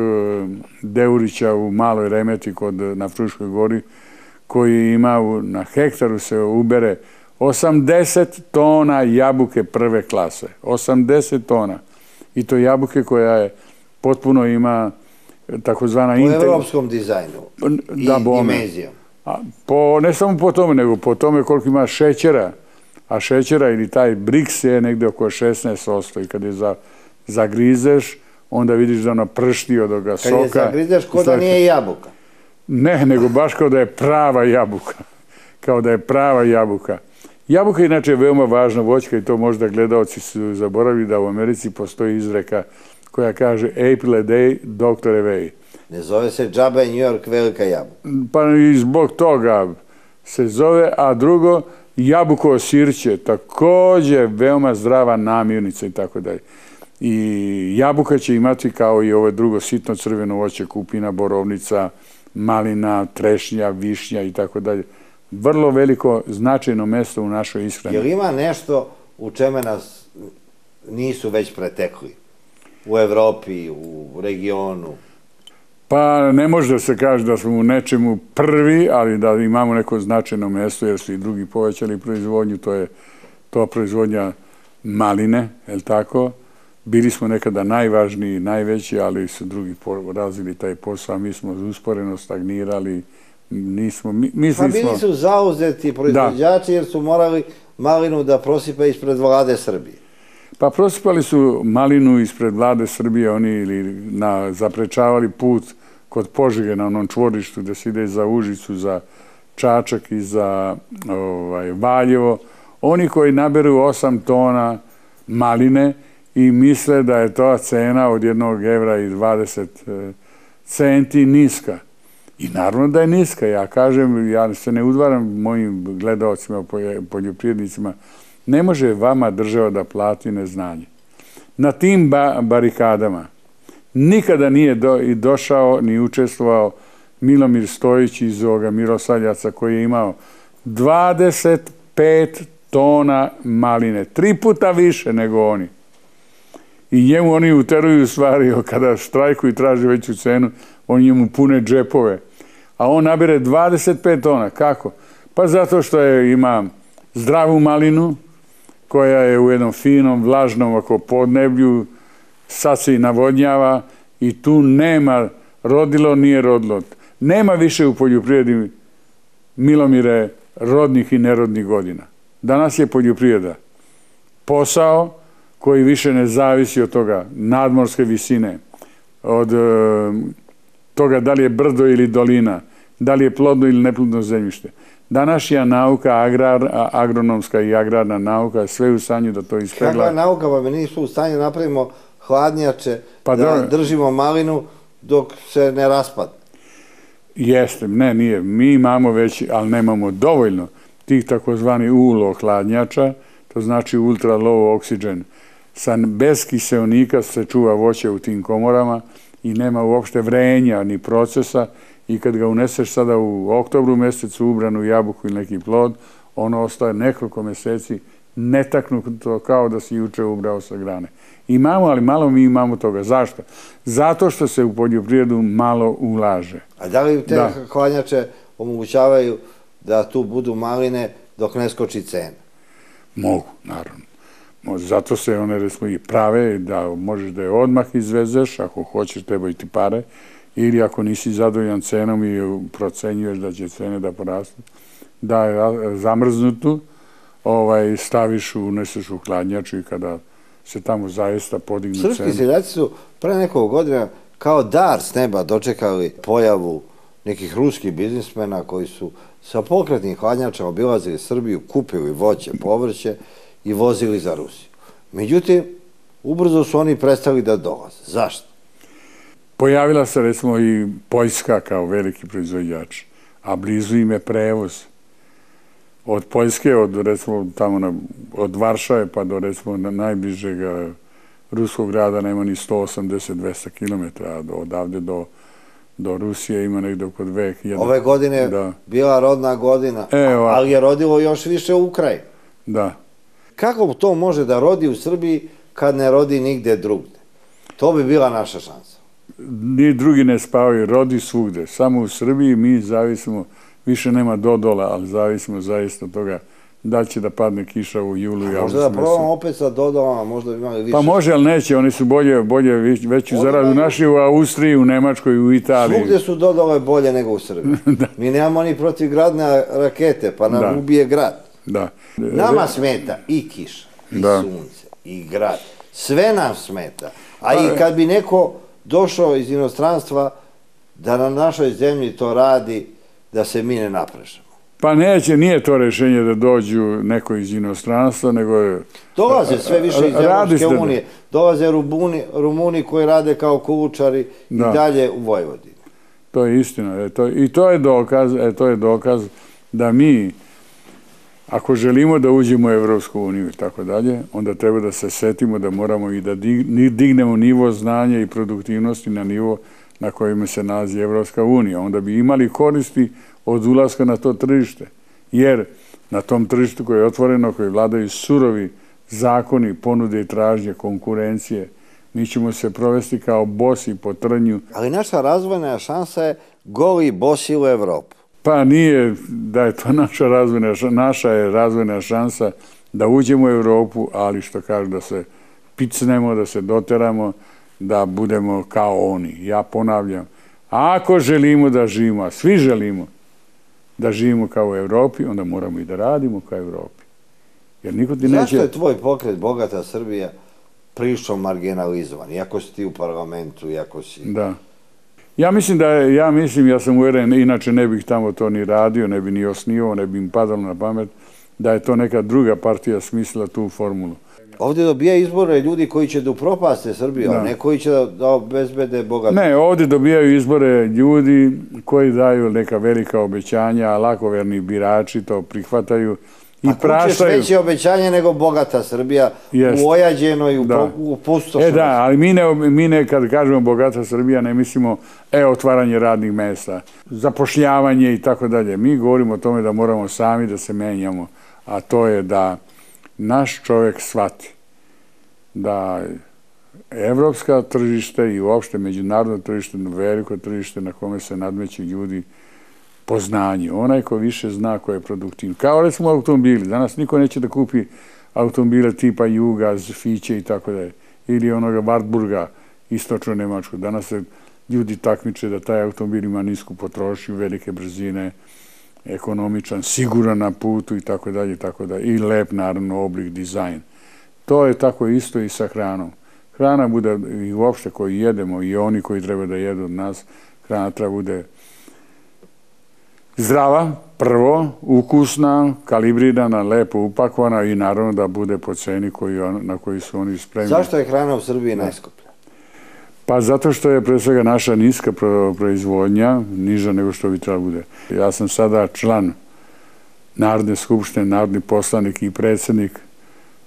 Deurića u Maloj Remeti na Fruškoj gori, koji ima na hektaru se ubere 80 tona jabuke prve klase. 80 tona. I to jabuke koja je potpuno ima takozvana... Po evropskom dizajnu i dimenzijom. Ne samo po tome, nego po tome koliko ima šećera. A šećera ili taj Brix je negde oko 16%. I kad je zagrizeš, onda vidiš da ona pršti od ovoga soka. Kad je zagrizeš, ko da nije jabuka. Ne, nego baš kao da je prava jabuka. Kao da je prava jabuka. Jabuka inače je veoma važna voćka i to možda gledaoci su zaboravili da u Americi postoji izreka koja kaže April a day, doctor away. Ne zove se džabe New York velika jabuka. Pa i zbog toga se zove, a drugo, jabuko sirće, takođe veoma zdrava namirnica i tako dalje. I jabuka će imati kao i ovo drugo sitno crveno voće, kupina, borovnica, malina, trešnja, višnja i tako dalje. Vrlo veliko značajno mesto u našoj ishrani. Jel ima nešto u čeme nas nisu već pretekli? U Evropi, u regionu? Pa ne može da se kaže da smo u nečemu prvi, ali da imamo neko značajno mesto, jer su i drugi povećali proizvodnju, to je to proizvodnja maline, je li tako? Bili smo nekada najvažniji, najveći, ali su drugi razvili taj posao, a mi smo usporeno stagnirali, Pa bili su zauzeti proizvođači jer su morali malinu da prosipa ispred vlade Srbije. Pa prosipali su malinu ispred vlade Srbije, oni ili zaprečavali put kod Požege na onom čvorištu gde se ide za Užicu, za Čačak i za Valjevo. Oni koji naberu 8 tona maline i misle da je to cena od 1 evra i 20 centi niska. I naravno da je niska. Ja kažem, ja se ne udvaram mojim gledaocima, poljoprivrednicima, ne može vama država da plati neznanje. Na tim barikadama nikada nije došao ni učestvovao Milomir Stojić iz ovoga Miroslavljaca koji je imao 25 tona maline, 3 puta više nego oni. I njemu oni uteruju stvari, kada štrajkuju i traže veću cenu, oni njemu pune džepove. A on nabere 25 tona. Kako? Pa zato što ima zdravu malinu, koja je u jednom finom, vlažnom podneblju, sad se i navodnjava i tu nema rodilo, nije rodilo. Nema više u poljoprivredi, Milomire, rodnih i nerodnih godina. Danas je poljoprivreda posao koji više ne zavisi od toga nadmorske visine, od toga da li je brdo ili dolina, da li je plodno ili neplodno zemljište. Današnja nauka, agronomska i agrarna nauka, je sve u stanju da to ispegla. Kakva je nauka, pa mi nisu u stanju napravimo hladnjače, da držimo malinu dok se ne raspadne. Jeste, ne, nije. Mi imamo već, ali nemamo dovoljno tih takozvani ULO hladnjača, to znači ultra low oxygen. Bez kiseonika se čuva voće u tim komorama i nema uopšte vrenja ni procesa i kad ga uneseš sada u oktobru mjesecu ubranu jabuku ili neki plod, ono ostaje nekoliko mjeseci netaknuto kao da si juče ubrao sa grane. Imamo, ali malo mi imamo toga. Zašto? Zato što se u poljoprivredu malo ulaže. A da li te hladnjače omogućavaju da tu budu maline dok ne skoči cena? Mogu, naravno. Zato se one recimo i prave da možeš da je odmah izvezeš, ako hoćeš trebaju ti pare, ili ako nisi zadovoljan cenom i procenjuješ da će cene da porastu, da je zamrznutu, staviš, uneseš u hladnjaču i kada se tamo zaista podignu cene. Srpski seljaci su pre nekog godina kao dar s neba dočekali pojavu nekih ruskih biznismena koji su sa pokretnim hladnjačama obilazili Srbiju, kupili voće, povrće i vozili za Rusiju. Međutim, ubrzo su oni prestali da dolaze. Zašto? Pojavila se recimo i Poljska kao veliki proizvođač, a blizu im je prevoz. Od Poljske, recimo tamo od Varšave pa do recimo najbližeg ruskog grada nema ni 180-200 km, odavde do Rusije ima negdje oko 2000. Ove godine bila rodna godina, ali je rodilo još više u Ukrajini. Da. Kako to može da rodi u Srbiji kad ne rodi nigde drugde? To bi bila naša šansa. Ni drugi ne spavaju, rodi svugde. Samo u Srbiji mi zavisimo, više nema dodola, ali zavisimo zaista od toga da će da padne kiša u julu i avgustu. Možda da probamo opet sa dodolama, možda bi imali više. Pa može, ali neće, oni su bolje veću zaradu naši u Austriji, u Nemačkoj, u Italiji. Svugde su dodole bolje nego u Srbiji. Mi nemamo ni protivgradne rakete, pa nam ubije grad. Nama smeta i kiša, i sunce, i grad. Sve nam smeta. A i kad bi neko došao iz inostranstva da na našoj zemlji to radi, da se mi ne naprežemo. Pa neće, nije to rešenje da dođu neko iz inostranstva, nego je... Dolaze sve više iz Evropske unije. Dolaze Rumuni koji rade kao kulučari i dalje u Vojvodini. To je istina. I to je dokaz da mi, ako želimo da uđemo u Evropsku uniju i tako dalje, onda treba da se setimo da moramo i da dignemo nivo znanja i produktivnosti na nivo na kojima se nalazi Evropska unija. Onda bi imali koristi od ulaska na to tržište. Jer na tom tržištu koje je otvoreno, koje vladaju surovi zakoni, ponude i tražnje, konkurencije, mi ćemo se provesti kao bosi po trnju. Ali naša razvojna šansa je goli bosi u Evropu. Pa nije da je to naša je razvojna šansa da uđemo u Evropu, ali što kažu da se picnemo, da se doteramo, da budemo kao oni. Ja ponavljam, ako želimo da živimo, a svi želimo da živimo kao u Evropi, onda moramo i da radimo kao u Evropi. Zašto je tvoj pokret Bogata Srbija prilično marginalizovan? Iako si ti u parlamentu, iako si... Da. Ja sam uveren, inače ne bih tamo to ni radio, ne bi ni osnivao, ne bi im padalo na pamet, da je to neka druga partija smislila tu formulu. Ovdje dobija izbore ljudi koji će da upropaste Srbiju, a ne koji će da obezbede bogato. Ne, ovdje dobijaju izbore ljudi koji daju neka velika obećanja, a lakoverni birači to prihvataju i praštaju. A kućeš veće obećanje nego Bogata Srbija u ojađenoj, u pustošnosti. Da, ali mi ne, kad kažemo Bogata Srbija, ne mislimo otvaranje radnih mesta, zapošljavanje i tako dalje. Mi govorimo o tome da moramo sami da se menjamo, a to je da naš čovjek shvati da evropska tržište i uopšte međunarodno tržište, veliko tržište na kome se nadmeću ljudi po znanju. Onaj ko više zna ko je produktivno. Kao recimo automobili. Danas niko neće da kupi automobile tipa Juga, Fiće i tako dalje. Ili onoga Wartburga, istočno Nemačko. Danas se ljudi takmiče da taj automobil ima nisku potrošnju, velike brzine, ekonomičan, siguran na putu i tako dalje, i lep, naravno, oblik, dizajn. To je tako isto i sa hranom. Hrana bude, i uopšte koji jedemo, i oni koji treba da jedu od nas, hrana treba bude zdrava, prvo ukusna, kalibrirana, lepo upakovana i naravno da bude po ceni na koju su oni spremni. Zašto je hrana u Srbiji najskuplja? Pa zato što je pre svega naša niska proizvodnja, niža nego što bi trebalo bude. Ja sam sada član Narodne skupštine, narodni poslanik i predsjednik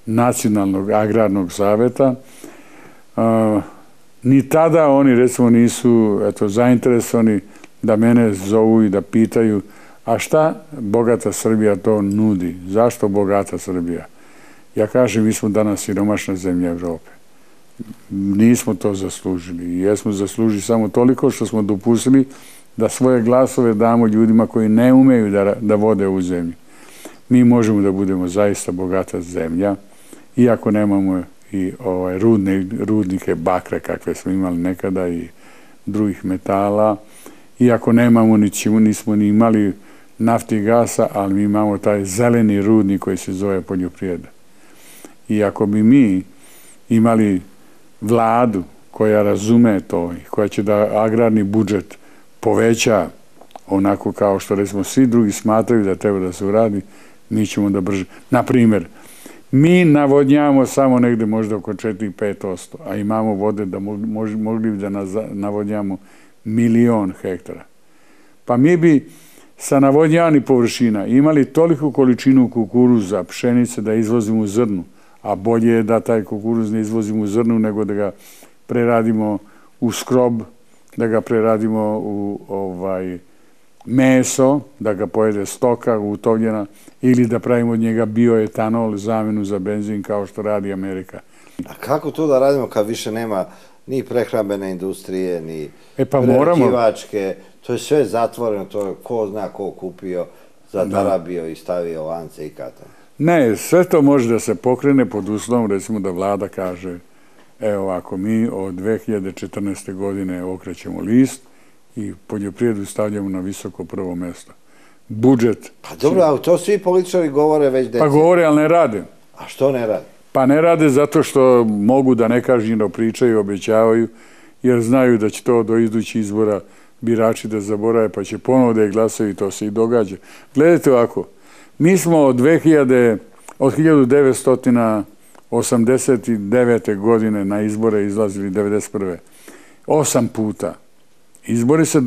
Nacionalnog agrarnog saveta. Ni tada oni, recimo, nisu zainteresovani da mene zovu i da pitaju a šta bogata Srbija to nudi? Zašto bogata Srbija? Ja kažem, mi smo danas siromašna zemlja Evrope. Nismo to zaslužili. I jesmo zaslužili samo toliko što smo dopustili da svoje glasove damo ljudima koji ne umeju da vode ovu zemlju. Mi možemo da budemo zaista bogata zemlja, iako nemamo i rudnike bakra kakve smo imali nekada i drugih metala, iako nemamo nismo ni imali nafti i gasa, ali mi imamo taj zeleni rudnik koji se zove poljoprivreda. I ako bi mi imali vladu koja razume to i koja će da agrarni budžet poveća onako kao što recimo svi drugi smatraju da treba da se uradi, mi ćemo da brže. Naprimjer, mi navodnjavamo samo negde možda oko 4-5%, a imamo vode da mogli bi da navodnjavamo 1.000.000 hektara. Pa mi bi sa navodnjavanih površina imali toliku količinu kukuruza, pšenice da izvozimo u zrnu, a bolje je da taj kukuruz ne izvozimo u zrnu nego da ga preradimo u skrob, da ga preradimo u meso, da ga pojede stoka utovljena ili da pravimo od njega bioetanol, zamenu za benzin kao što radi Amerika. A kako to da radimo kad više nema ni prehrambene industrije, ni prerađivačke? To je sve zatvoreno, to je ko zna ko kupio, zatarabio i stavio lance i katane. Ne, sve to može da se pokrene pod uslovom, recimo da vlada kaže, evo ako mi od 2014. godine okrećemo list i poljoprivredu stavljamo na visoko prvo mesto. Budžet... Pa dobro, ali to svi političari govore već decenije. Pa govore, ali ne rade. A što ne rade? Pa ne rade zato što mogu da nekažnjeno pričaju, obećavaju, jer znaju da će to do idućih izbora birači da zaborave, pa će ponovo da je glasaju i to se i događa. Gledajte ovako, mi smo od 1989. godine na izbore izlazili 1991. 8 puta. Izbori se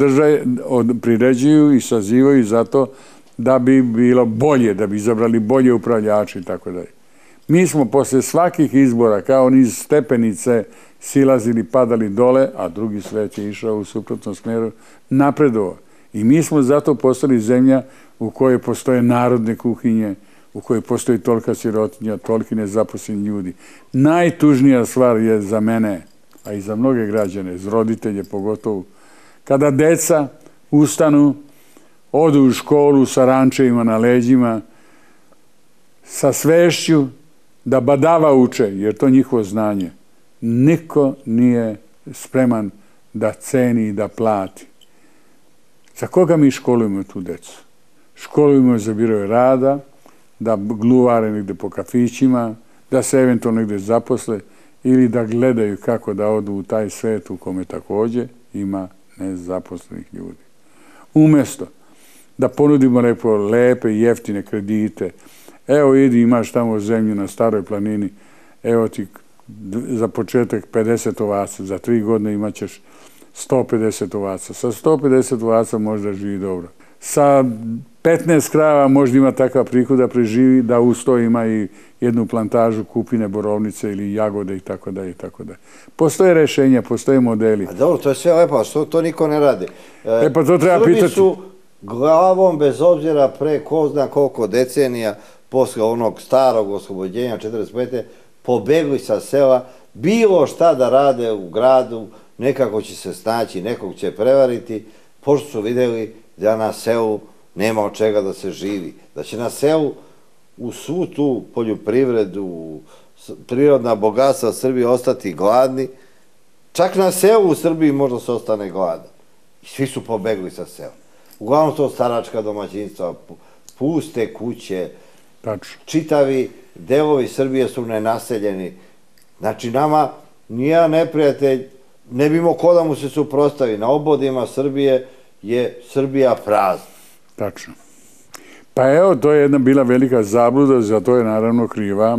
priređuju i sazivaju zato da bi bilo bolje, da bi izabrali bolje upravljače i tako dalje. Mi smo posle svakih izbora, kao niz stepenice, silazili, padali dole, a drugi svet je išao u suprotnom smeru, napredovao. I mi smo zato postali zemlja u kojoj postoje narodne kuhinje, u kojoj postoji tolika sirotinja, toliki nezaposleni ljudi. Najtužnija stvar je za mene, a i za mnoge građane, za roditelje pogotovo, kada deca ustanu, odu u školu sa rančevima na leđima, sa svešću da badava uče, jer to je njihovo znanje. Niko nije spreman da ceni i da plati. Za koga mi školujemo tu decu? Školujemo za biroje rada, da gluvare negde po kafićima, da se eventualno negde zaposle ili da gledaju kako da odu u taj svet u kome takođe ima nezaposlenih ljudi. Umesto da ponudimo lepe i jeftine kredite, evo idi, imaš tamo zemlju na Staroj planini, evo ti za početak 50 ovaca, za 3 godine imat ćeš 150 ovaca. Sa 150 ovaca možda živi dobro. Sa 15 krava možda ima takav prihod da preživi, da uz to ima i jednu plantažu kupine, borovnice ili jagode i tako dalje i tako dalje. Postoje rešenja, postoje modeli. A dobro, to je sve lepo, a što to niko ne radi? Pa to treba pitati. Srbi su glavom, bez obzira pre ko zna koliko decenija, posle onog starog oslobođenja 1945. pobegli sa sela, bilo šta da rade u gradu, nekako će se snaći, nekog će prevariti, pošto su videli da na selu nema od čega da se živi, da će na selu u svu tu poljoprivredu, prirodna bogatstva Srbije ostati gladni, čak na selu u Srbiji možda se ostane gladan. I svi su pobegli sa sela. Uglavnom to staračka domaćinstva, puste kuće, čitavi delovi Srbije su nenaseljeni. Znači nama nijedan neprijatelj ne bi imao ko da mu se suprotstavi. Na obodima Srbije je Srbija prazna. Tačno. Pa evo, to je jedna bila velika zabluda, za to je naravno kriva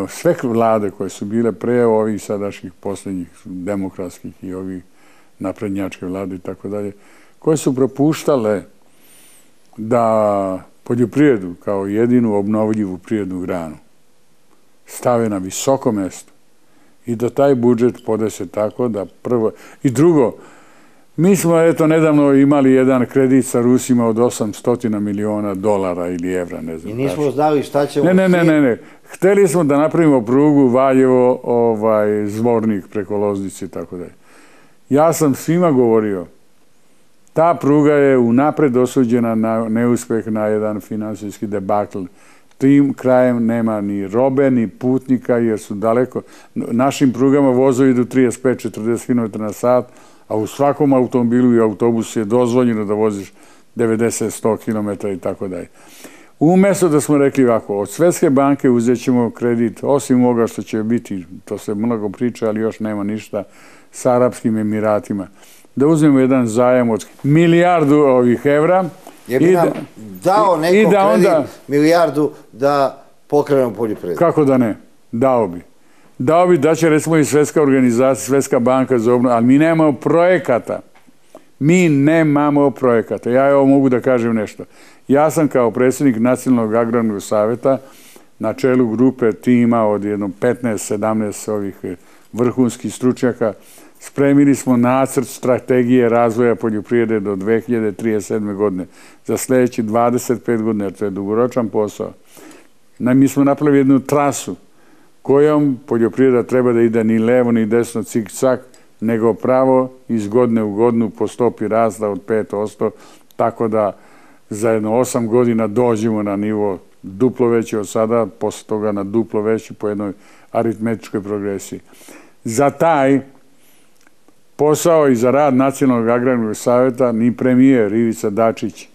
sve vlade koje su bile pre ovih sadašnjih posljednjih demokratskih i ovih naprednjačke vlade i tako dalje, koje su propuštale da poljoprivredu kao jedinu obnovljivu prirodnu granu stave na visoko mesto i da taj budžet podese tako da prvo... I drugo, mi smo eto nedavno imali jedan kredit sa Rusima od 800 miliona dolara ili evra, ne znam. I nismo znali šta ćemo... Ne. Hteli smo da napravimo prugu Valjevo, Zvornik preko Loznice i tako dalje. Ja sam svima govorio, ta pruga je unapred osuđena na neuspeh, na jedan finansijski debakl. Tim krajem nema ni robe, ni putnika, jer su daleko. Našim prugama vozovi idu 35-40 km na sat, a u svakom automobilu i autobusu je dozvoljeno da voziš 90-100 km i tako dalje. Umjesto da smo rekli ovako, od Svjetske banke uzet ćemo kredit, osim ovoga što će biti, to se mnogo priča, ali još nema ništa, s Arapskim Emiratima, da uzmemo jedan zajam od milijardu evra. Je bi nam dao neko kredit, milijardu, da pokrenemo poljoprivredu? Kako da ne? Dao bi. Dao bi da će recimo i Svjetska organizacija, Svjetska banka za obnovu, ali mi nemamo projekata. Mi nemamo projekata. Ja evo mogu da kažem nešto. Ja sam kao predsjednik Nacionalnog agrarnog savjeta na čelu grupe tima od jedno 15-17 ovih vrhunskih stručnjaka. Spremili smo nacrt strategije razvoja poljoprivrede do 2037. godine. Za sljedeći 25 godina, jer to je dugoročan posao. Mi smo napravili jednu trasu kojom poljoprivreda treba da ide ni levo ni desno cik-cak, nego pravo iz godine u godinu po stopi rasta od 5%, tako da za jedno 8 godina dođemo na nivo duplo veći od sada, posle toga na duplo veći po jednoj aritmetičkoj progresiji. Za taj posao i za rad Nacionalnog agrarnog savjeta ni premijer Ivica Dačić,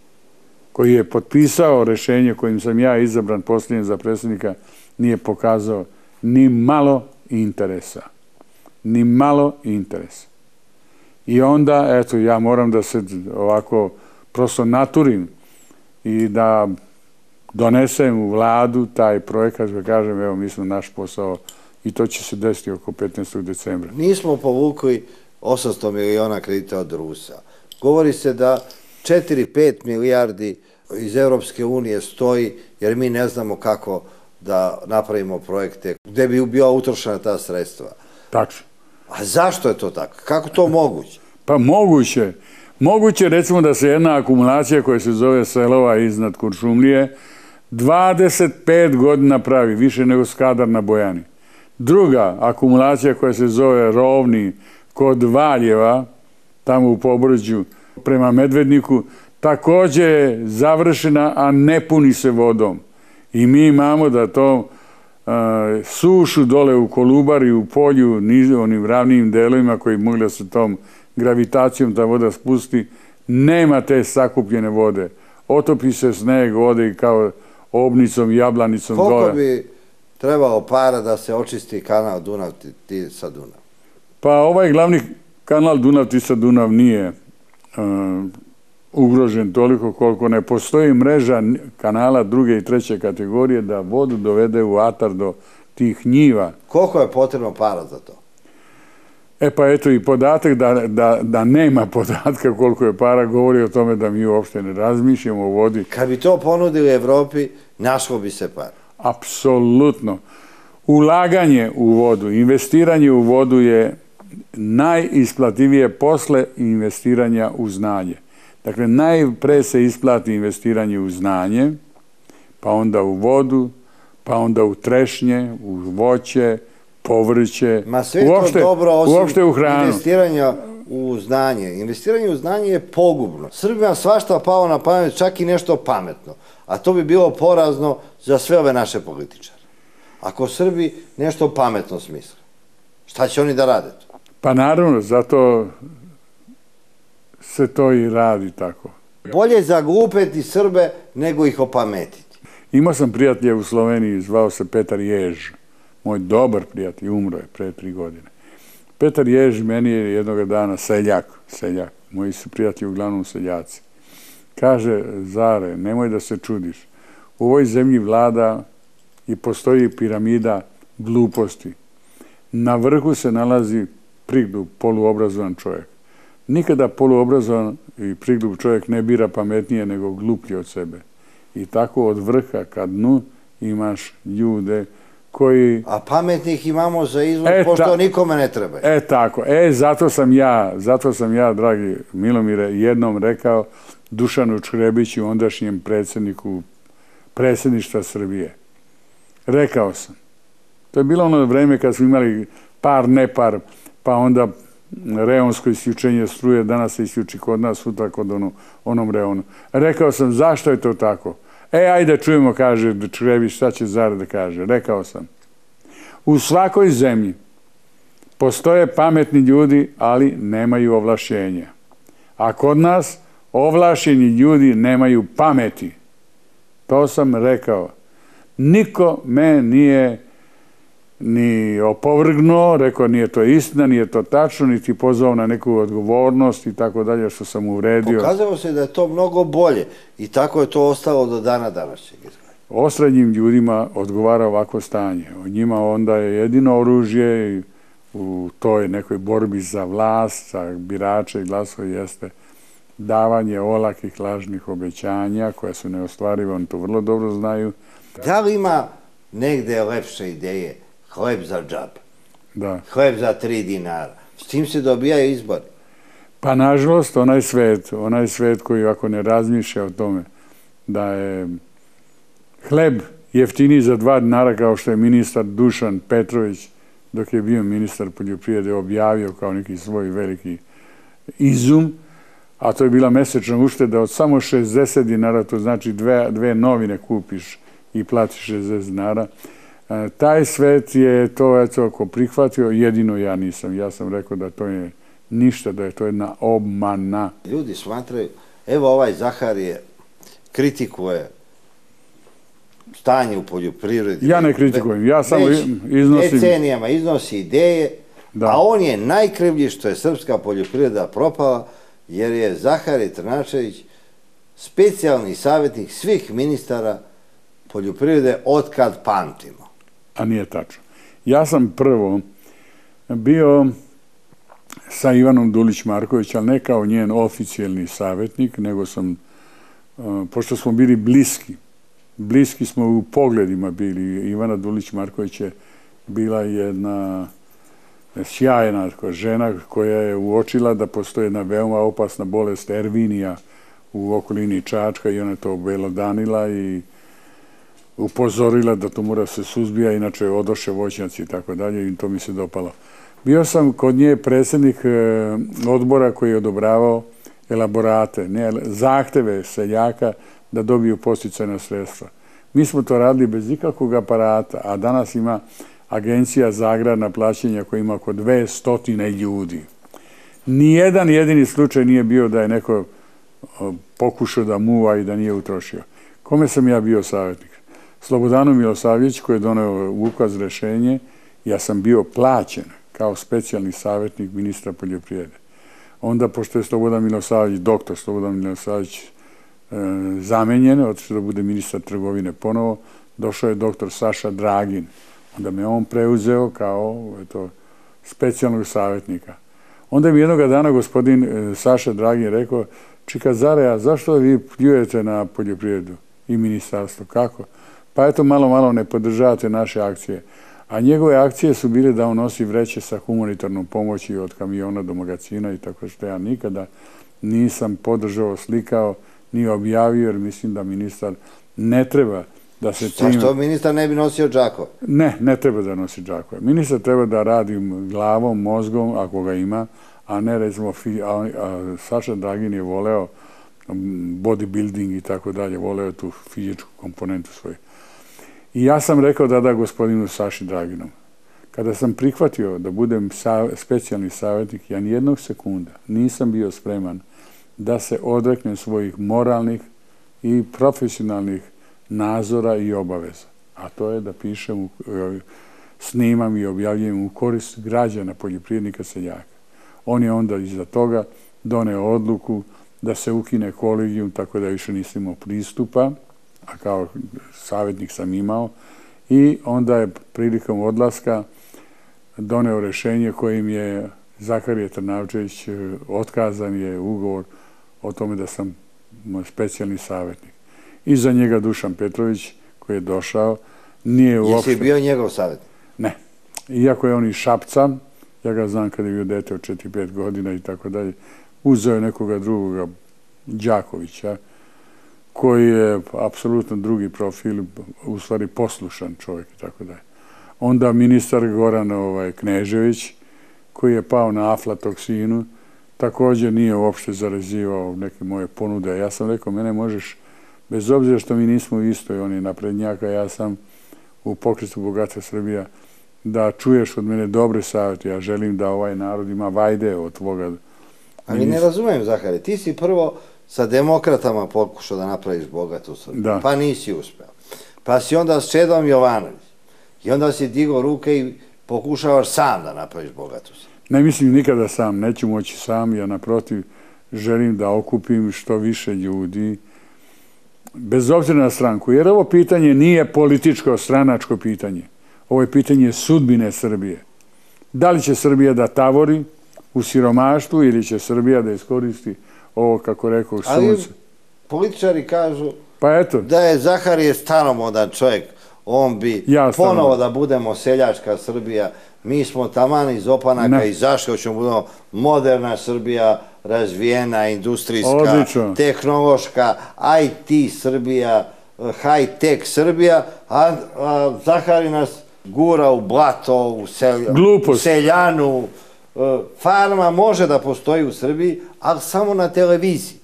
koji je potpisao rešenje kojim sam ja izabran posljednje za predsjednika, nije pokazao ni malo interesa. Ni malo interesa. I onda, eto, ja moram da se ovako prosto naturim i da donesem u vladu taj projekat, da kažem, evo, mi smo naš posao i to će se desiti oko 15. decembra. Nismo povukli 800 miliona kredita od Rusa. Govori se da 4-5 milijardi iz Europske unije stoji, jer mi ne znamo kako da napravimo projekte gde bi bila utrošena ta sredstva. Tačno. A zašto je to tako? Kako to moguće? Pa moguće. Moguće recimo da se jedna akumulacija koja se zove Selova iznad Kuršumlije 25 godina pravi, više nego Skadar na Bojani. Druga akumulacija koja se zove Rovni kod Valjeva, tamo u Pobrđu, prema Medvedniku, također je završena, a ne puni se vodom. I mi imamo da to sušu dole u Kolubari, u polju, onim ravnim delovima koji mogli da se tom gravitacijom ta voda spusti, nema te sakupljene vode. Otopi se sneg, ode i kao obnicom, jablanicom dole. Koliko bi trebalo para da se očisti kanal Dunav-Tisa-Dunav? Pa ovaj glavni kanal Dunav-Tisa-Dunav nije ugrožen toliko koliko ne postoji mreža kanala druge i treće kategorije da vodu dovede u atar do tih njiva. Koliko je potrebno para za to? E pa eto i podatak da nema podatka koliko je para govori o tome da mi uopšte ne razmišljamo o vodi. Kad bi to ponudili Evropi, našlo bi se para. Apsolutno. Ulaganje u vodu, investiranje u vodu je najisplativije posle investiranja u znanje. Dakle, najpre se isplati investiranje u znanje, pa onda u vodu, pa onda u trešnje, u voće, povrće, uopšte u hranu. Investiranja u znanje. Investiranje u znanje je pogubno. Srbima svašta palo na pamet, čak i nešto pametno. A to bi bilo porazno za sve ove naše političare. Ako Srbi nešto pametno smisle, šta će oni da rade to? Pa naravno, zato se to i radi tako. Bolje zaglupeti Srbe nego ih opametiti. Imao sam prijatelja u Sloveniji, zvao se Petar Jež. Moj dobar prijatelj, umro je pre 3 godine. Petar Jež meni je jednoga dana seljak. Moji su prijatelji uglavnom seljaci. Kaže, Zare, nemoj da se čudiš. U ovoj zemlji vlada i postoji piramida gluposti. Na vrhu se nalazi priglup, poluobrazovan čovjek. Nikada poluobrazovan i priglup čovjek ne bira pametnije nego gluplji od sebe. I tako od vrha ka dnu imaš ljude koji... A pametnih imamo za izvod, pošto nikome ne treba. Tako. Zato sam ja, dragi Milomire, jednom rekao Dušanu Črebiću, ondašnjem predsjedniku predsjedništva Srbije. Rekao sam. To je bilo ono vreme kad smo imali par, nepar, pa onda reonsko isključenje struje, danas se isključi kod nas, sutra kod onom reonu. Rekao sam, zašto je to tako? Ajde čujemo, kaže Črebić, šta će Zare da kaže. Rekao sam, u svakoj zemlji postoje pametni ljudi, ali nemaju ovlašćenja. A kod nas ovlašćeni ljudi nemaju pameti. To sam rekao. Niko me nije ni opovrgnuo, rekao nije to istina, nije to tačno, niti pozvao na neku odgovornost i tako dalje što sam uvredio. Pokazalo se da je to mnogo bolje i tako je to ostalo do dana današnjeg. Osrednjim ljudima odgovara ovako stanje. O njima onda je jedino oružje u toj nekoj borbi za vlast, za birače i glasove jeste davanje olakih lažnih obećanja koja su neostvarive, oni to vrlo dobro znaju. Da li ima negde lepše ideje? Hleb za džab. Da. Hleb za 3 dinara. S tim se dobijaju izbori. Pa nažalost, onaj svet koji ako ne razmišlja o tome da je hleb jeftiniji za 2 dinara kao što je ministar Dušan Petrović dok je bio ministar poljoprivrede objavio kao neki svoj veliki izum, a to je bila mesečna ušteda od samo 60 dinara, to znači 2 novine kupiš i platiš 60 dinara. Taj svet je to, ako prihvatio, jedino ja nisam. Ja sam rekao da to je ništa, da je to jedna obmana. Ljudi smatraju, evo ovaj Zaharije kritikuje stanje u poljoprivredi. Ja ne kritikujem, ja samo iznosim... Decenijama iznosi ideje, a on je najkrivlji što je srpska poljoprivreda propala, jer je Zaharije Trnačević specijalni savjetnik svih ministara poljoprivrede otkad pamtimo. A nije tačno. Ja sam prvo bio sa Ivanom Dulić-Marković, ali ne kao njen oficijalni savjetnik, nego sam, pošto smo bili bliski smo u pogledima bili. Ivana Dulić-Marković je bila jedna sjajna žena koja je uočila da postoji jedna veoma opasna bolest Ervinija u okolini Čačka i ona je to obelodanila i upozorila da to mora se suzbija, inače odoše voćnjaci i tako dalje i to mi se dopalo. Bio sam kod nje predsjednik odbora koji je odobravao elaborate, zahteve seljaka da dobiju podsticajna sredstva. Mi smo to radili bez ikakvog aparata, a danas ima Agencija za agrarna plaćanja koja ima oko 200 ljudi. Nijedan jedini slučaj nije bio da je neko pokušao da muva i da nije utrošio. Kome sam ja bio savjetnik? Slobodanu Milosavljević koji je doneo ukaz rešenje, ja sam bio plaćen kao specijalni savjetnik ministra poljoprivrede. Onda, pošto je Slobodan Milosavljević, doktor Slobodan Milosavljević zamenjen, otišao da bude ministar trgovine ponovo, došao je doktor Saša Dragin. Onda me on preuzeo kao specijalnog savjetnika. Onda mi jednoga dana gospodin Saša Dragin rekao, čika Zare, a zašto vi pljujete na poljoprivredu i ministarstvo? Kako? Pa eto, malo ne podržavate naše akcije. A njegove akcije su bile da on nosi vreće sa humanitarnom pomoći od kamiona do magazina i tako što ja nikada nisam podržao, slikao, ni objavio, jer mislim da ministar ne treba da se tim... Zašto ministar ne bi nosio džakove? Ne treba da nosi džakove. Ministar treba da radi glavom, mozgom, ako ga ima, a ne recimo... Saša Dragin je voleo bodybuilding i tako dalje, voleo tu fizičku komponentu svoju. I ja sam rekao da gospodinu Saši Draginom. Kada sam prihvatio da budem specijalni savjetnik, ja nijednog sekunda nisam bio spreman da se odreknem svojih moralnih i profesionalnih nadzora i obaveza. A to je da pišem, snimam i objavljujem u korist građana, poljoprivrednika, seljaka. On je onda iza toga doneo odluku da se ukine kolegijum, tako da više nisam imao pristupa, a kao savjetnik sam imao. I onda je prilikom odlaska doneo rješenje kojim je Zaharije Trnavčević, otkazan je ugovor o tome da sam specijalni savjetnik. Iza njega Dušan Petrović, koji je došao, nije uopšte... Jesi bio njegov savjetnik? Ne. Iako je on iz Šapca, ja ga znam kada je bio dete od 4-5 godina i tako dalje, uzeo je nekoga drugoga, Đakovića, koji je apsolutno drugi profil, u stvari poslušan čovjek i tako dalje. Onda ministar Goran Knežević, koji je pao na aflatoksinu, također nije uopšte zarazivao neke moje ponude. Ja sam rekao, mene možeš, bez obzira što mi nismo u istoj, on je naprednjaka, ja sam u Pokretu Bogatstva Srbija, da čuješ od mene dobre savjete. Ja želim da ovaj narod ima vajde od tvoga. Ali ne razumijem, Zahari, ti si prvo sa demokratama pokušao da napraviš bogatu Srbiju, pa nisi uspeo. Pa si onda s Čedom Jovanović i onda si digao ruke i pokušavaš sam da napraviš bogatu Srbiju. Ne mislim nikada sam, neću moći sam, ja naprotiv želim da okupim što više ljudi, bez obzira na stranku, jer ovo pitanje nije političko, stranačko pitanje. Ovo je pitanje sudbine Srbije. Da li će Srbija da tavori u siromaštvu ili će Srbija da iskoristi ovo, kako rekao, sunce? Ali političari kažu pa eto, da je Zaharije staromodan čovjek, on bi ponovo da budemo seljačka Srbija. Mi smo taman iz opanaka i zašto hoćemo budemo moderna Srbija, razvijena, industrijska, tehnološka, IT Srbija, high-tech Srbija, a Zahari nas gura u blato, u seljanu. Farma može da postoji u Srbiji, ali samo na televiziji.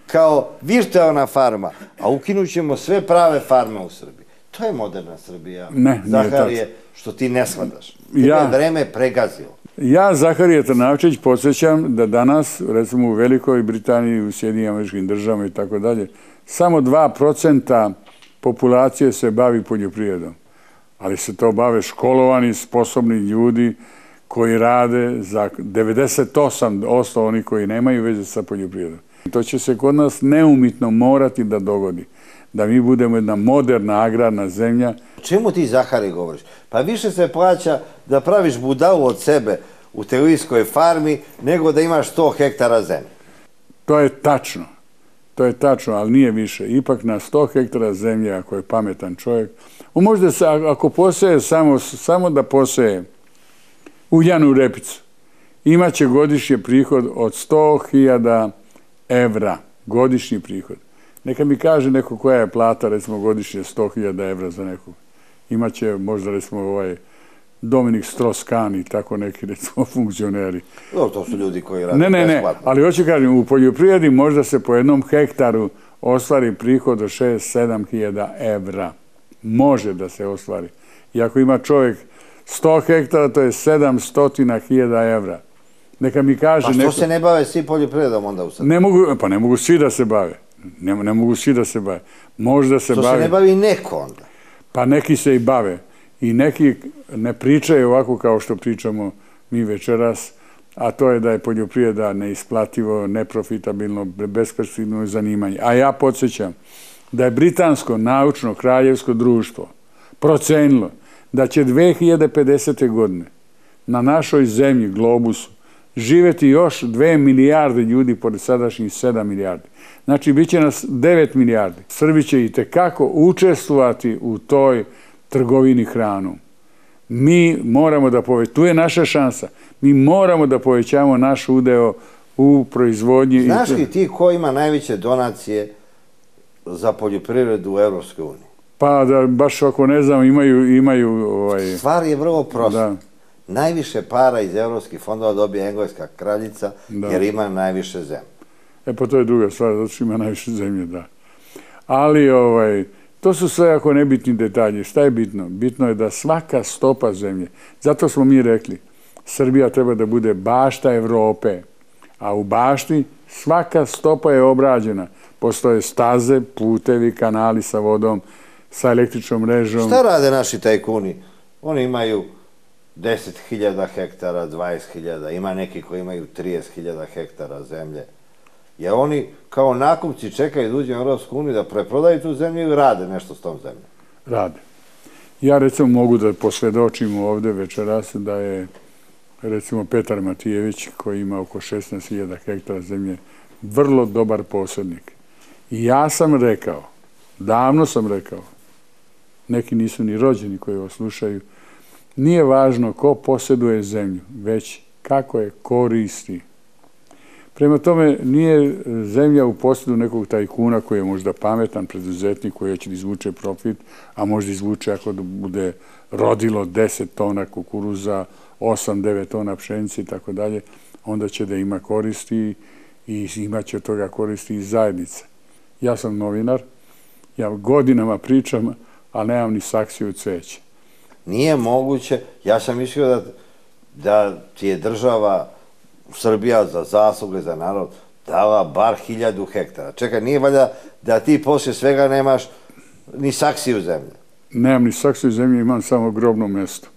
Kao virtualna farma, a ukinut ćemo sve prave farme u Srbiji. To je moderna Srbija. Zaharije, što ti ne shvataš. Tebe je vreme pregazilo. Ja, Zaharije Trnavčević, podsjećam da danas, recimo u Velikoj Britaniji, u Sjedinjenim Američkim Državama i tako dalje, samo 2% populacije se bavi poljoprivredom. Ali se to bave školovani, sposobni ljudi koji rade za 98% oni koji nemaju veze sa poljoprivredom. To će se kod nas neumitno morati da dogodi. Da mi budemo jedna moderna agrarna zemlja. O čemu ti, Zahari, govoriš? Pa više se plaća da praviš budalu od sebe u televizijskoj farmi nego da imaš 100 hektara zemlje. To je tačno. To je tačno, ali nije više. Ipak na 100 hektara zemlje, ako je pametan čovjek, možda se, ako poseje samo da poseje uljanu repicu, imaće godišnji prihod od 100.000 evra. Godišnji prihod. Neka mi kaže neko koja je plata, recimo, godišnje 100.000 evra za nekog. Imaće možda, recimo, Dominik Strauss-Kahn i tako neki, recimo, funkcioneri. To su ljudi koji rade besplatno. Ne, ali hoću kažem, u poljoprivredi možda se po jednom hektaru ostvari prihod od 6-7.000 evra. Može da se ostvari. I ako ima čovjek 100 hektara, to je 700.000 evra. Neka mi kaže... Pa što se ne bave svi poljoprivredom onda u Srbiji? Pa ne mogu svi da se bave. Ne mogu svi da se bave. Možda se bave... Što se ne bavi neko onda? Pa neki se i bave. I neki ne pričaju ovako kao što pričamo mi večeras, a to je da je poljoprivreda neisplativo, neprofitabilno, besperspektivno zanimanje. A ja podsjećam da je Britansko naučno kraljevsko društvo procenilo da će 2050. godine na našoj zemlji, globusu, živjeti još 2 milijarde ljudi pored sadašnjih 7 milijardi. Znači, bit će nas 9 milijardi. Srbi će i tekako učestvovati u toj trgovini hranom. Mi moramo da povećamo, tu je naša šansa, mi moramo da povećamo naš udeo u proizvodnji. Znaš li ti ko ima najveće donacije za poljoprivredu u Evropskoj uniji? Pa da, baš ako ne znam, imaju... Stvar je vrlo prosta. Najviše para iz evropskih fondova dobije engleska kraljica jer ima najviše zemlje. Pa to je druga stvar, zato što ima najviše zemlje, da. Ali to su sve ako nebitni detalji. Šta je bitno? Bitno je da svaka stopa zemlje, zato smo mi rekli, Srbija treba da bude bašta Evrope, a u bašti svaka stopa je obrađena. Postoje staze, putevi, kanali sa vodom, sa električnom mrežom. Šta rade naši tajkuni? Oni imaju 10.000 hektara, 20.000, ima neki koji imaju 30.000 hektara zemlje. Jer oni kao nakupci čekaju da uđe u Europsku uniju da preprodaju tu zemlju i rade nešto s tom zemljom. Rade. Ja recimo mogu da posvjedočim ovdje večeras da je recimo Petar Matijević, koji ima oko 16.000 hektara zemlje, vrlo dobar posjednik. I ja sam rekao, davno sam rekao, neki nisu ni rođeni koji ovo slušaju, nije važno ko posjeduje zemlju, već kako je koristi. Prema tome, nije zemlja u posjedu nekog tajkuna koji je možda pametan preduzetnik koji će da izvuče profit, a možda izvuče ako bude rodilo 10 tona kukuruza, 8-9 tona pšenice i tako dalje, onda će da ima koristi i imat će od toga koristi i zajednice. Ja sam novinar, ja godinama pričam, ali nemam ni saksiju cveća. Nije moguće, ja sam mislio da ti je država Srbija za zasluge, za narod, dala bar 1000 hektara. Čekaj, nije valjda da ti poslije svega nemaš ni saksiju zemlje? Nemam ni saksiju zemlje, imam samo grobno mjesto.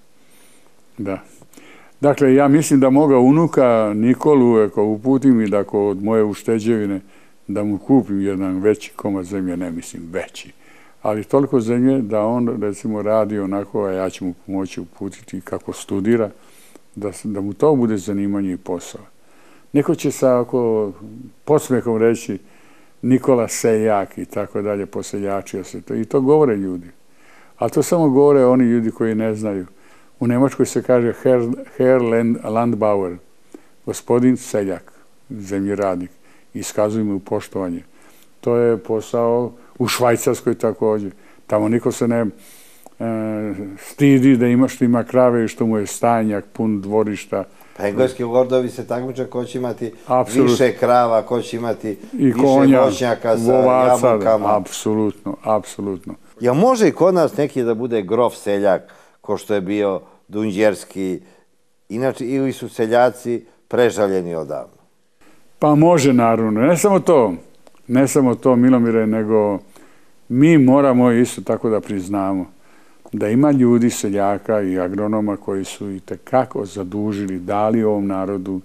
Da. Dakle, ja mislim da moga unuka Nikolu, ako uputim i da ako od moje ušteđevine, da mu kupim jedan veći komad zemlje, ne mislim veći, ali toliko zemlje da on, recimo, radi onako, a ja ću mu pomoći uputiti kako studira, da mu to bude zanimanje i posao. Neko će sa ako podsmehom reći Nikola seljak i tako dalje, poseljačio se to. I to govore ljudi. Ali to samo govore oni ljudi koji ne znaju. U Nemačkoj se kaže Herr Landbauer, gospodin seljak, zemljoradnik. Iskazuju mu poštovanje. To je posao u Švajcarskoj također. Tamo niko se ne stidi da ima što ima krave i što mu je stajnjak pun dvorišta. Pa engleski lordovi se takmiče ko će imati više krava, ko će imati više voćnjaka sa jabukama. Apsolutno, apsolutno. Jel može i kod nas neki da bude grof seljak, ko što je bio Dunđerski, inače ili su seljaci prežaljeni odavno? Pa može, naravno. Ne samo to, Milomire, nego mi moramo isto tako da priznamo da ima ljudi, seljaka i agronoma koji su i tekako zadužili, dali ovom narodu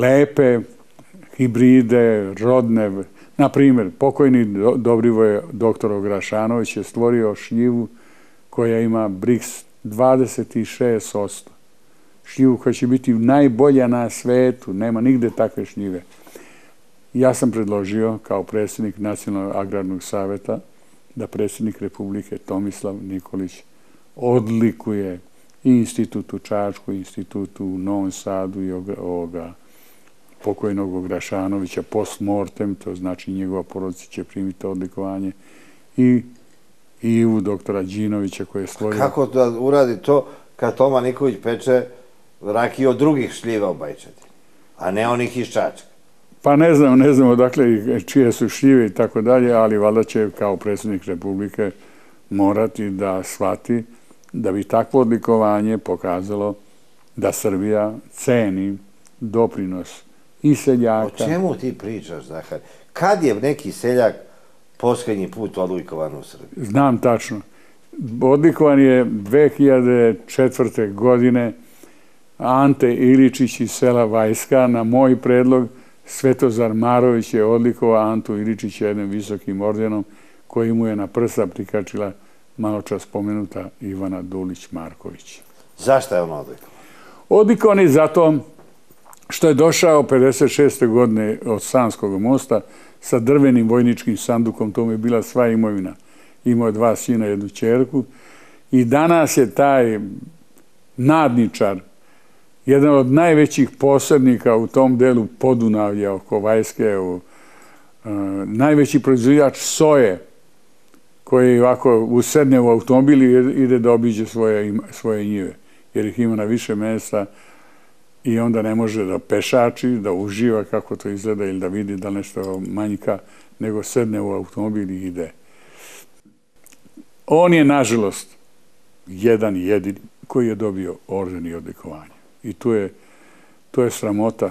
lepe hibride, rodne. Na primjer, pokojni Dobrivoje doktor Ograšanović je stvorio šljivu koja ima Brix 26%. Šljivu koja će biti najbolja na svetu, nema nigde takve šljive. Ja sam predložio kao predsjednik Nacionalnog agrarnog savjeta da predsjednik Republike Tomislav Nikolić odlikuje i institut u Čačku, i institut u Novom Sadu i ovoga pokojnog Ograšanovića post mortem, to znači njegova porodica će primiti odlikovanje, i Ivu doktora Đinovića koji je stvorio... Kako da uradi to kad Toma Nikolić peče rakiju od drugih šljiva u Bajčadi, a ne onih iz Čačka? Pa ne znam odakle čije su šljive i tako dalje, ali valjda će kao predsjednik Republike morati da shvati da bi takvo odlikovanje pokazalo da Srbija ceni doprinos i seljaka. O čemu ti pričaš, Zahar? Kad je neki seljak posljednji put odlikovan u Srbiji? Znam tačno. Odlikovan je 2004. godine Ante Iličić iz sela Vajska. Na moj predlog Svetozar Marović je odlikovao Antu Iličića jednim visokim ordenom koji mu je na prsa prikačila maločas spomenuta Ivana Dulić-Marković. Zašto je on odlikovan? Odlikovan je zato što je došao 56. godine od Sanskog mosta sa drvenim vojničkim sandukom, to mu je bila sva imovina. Imao je 2 sina, 1 ćerku i danas je taj nadničar, jedan od najvećih posrednika u tom delu Podunavlja oko Vajske, najveći proizvođač soje, koji ovako usedne u automobil i ide da obiđe svoje njive, jer ih ima na više mjesta i onda ne može da pešači, da uživa kako to izgleda ili da vidi da nešto manjka, nego sedne u automobil i ide. On je, nažalost, jedan jedini koji je dobio orden i odlikovanje. I to je sramota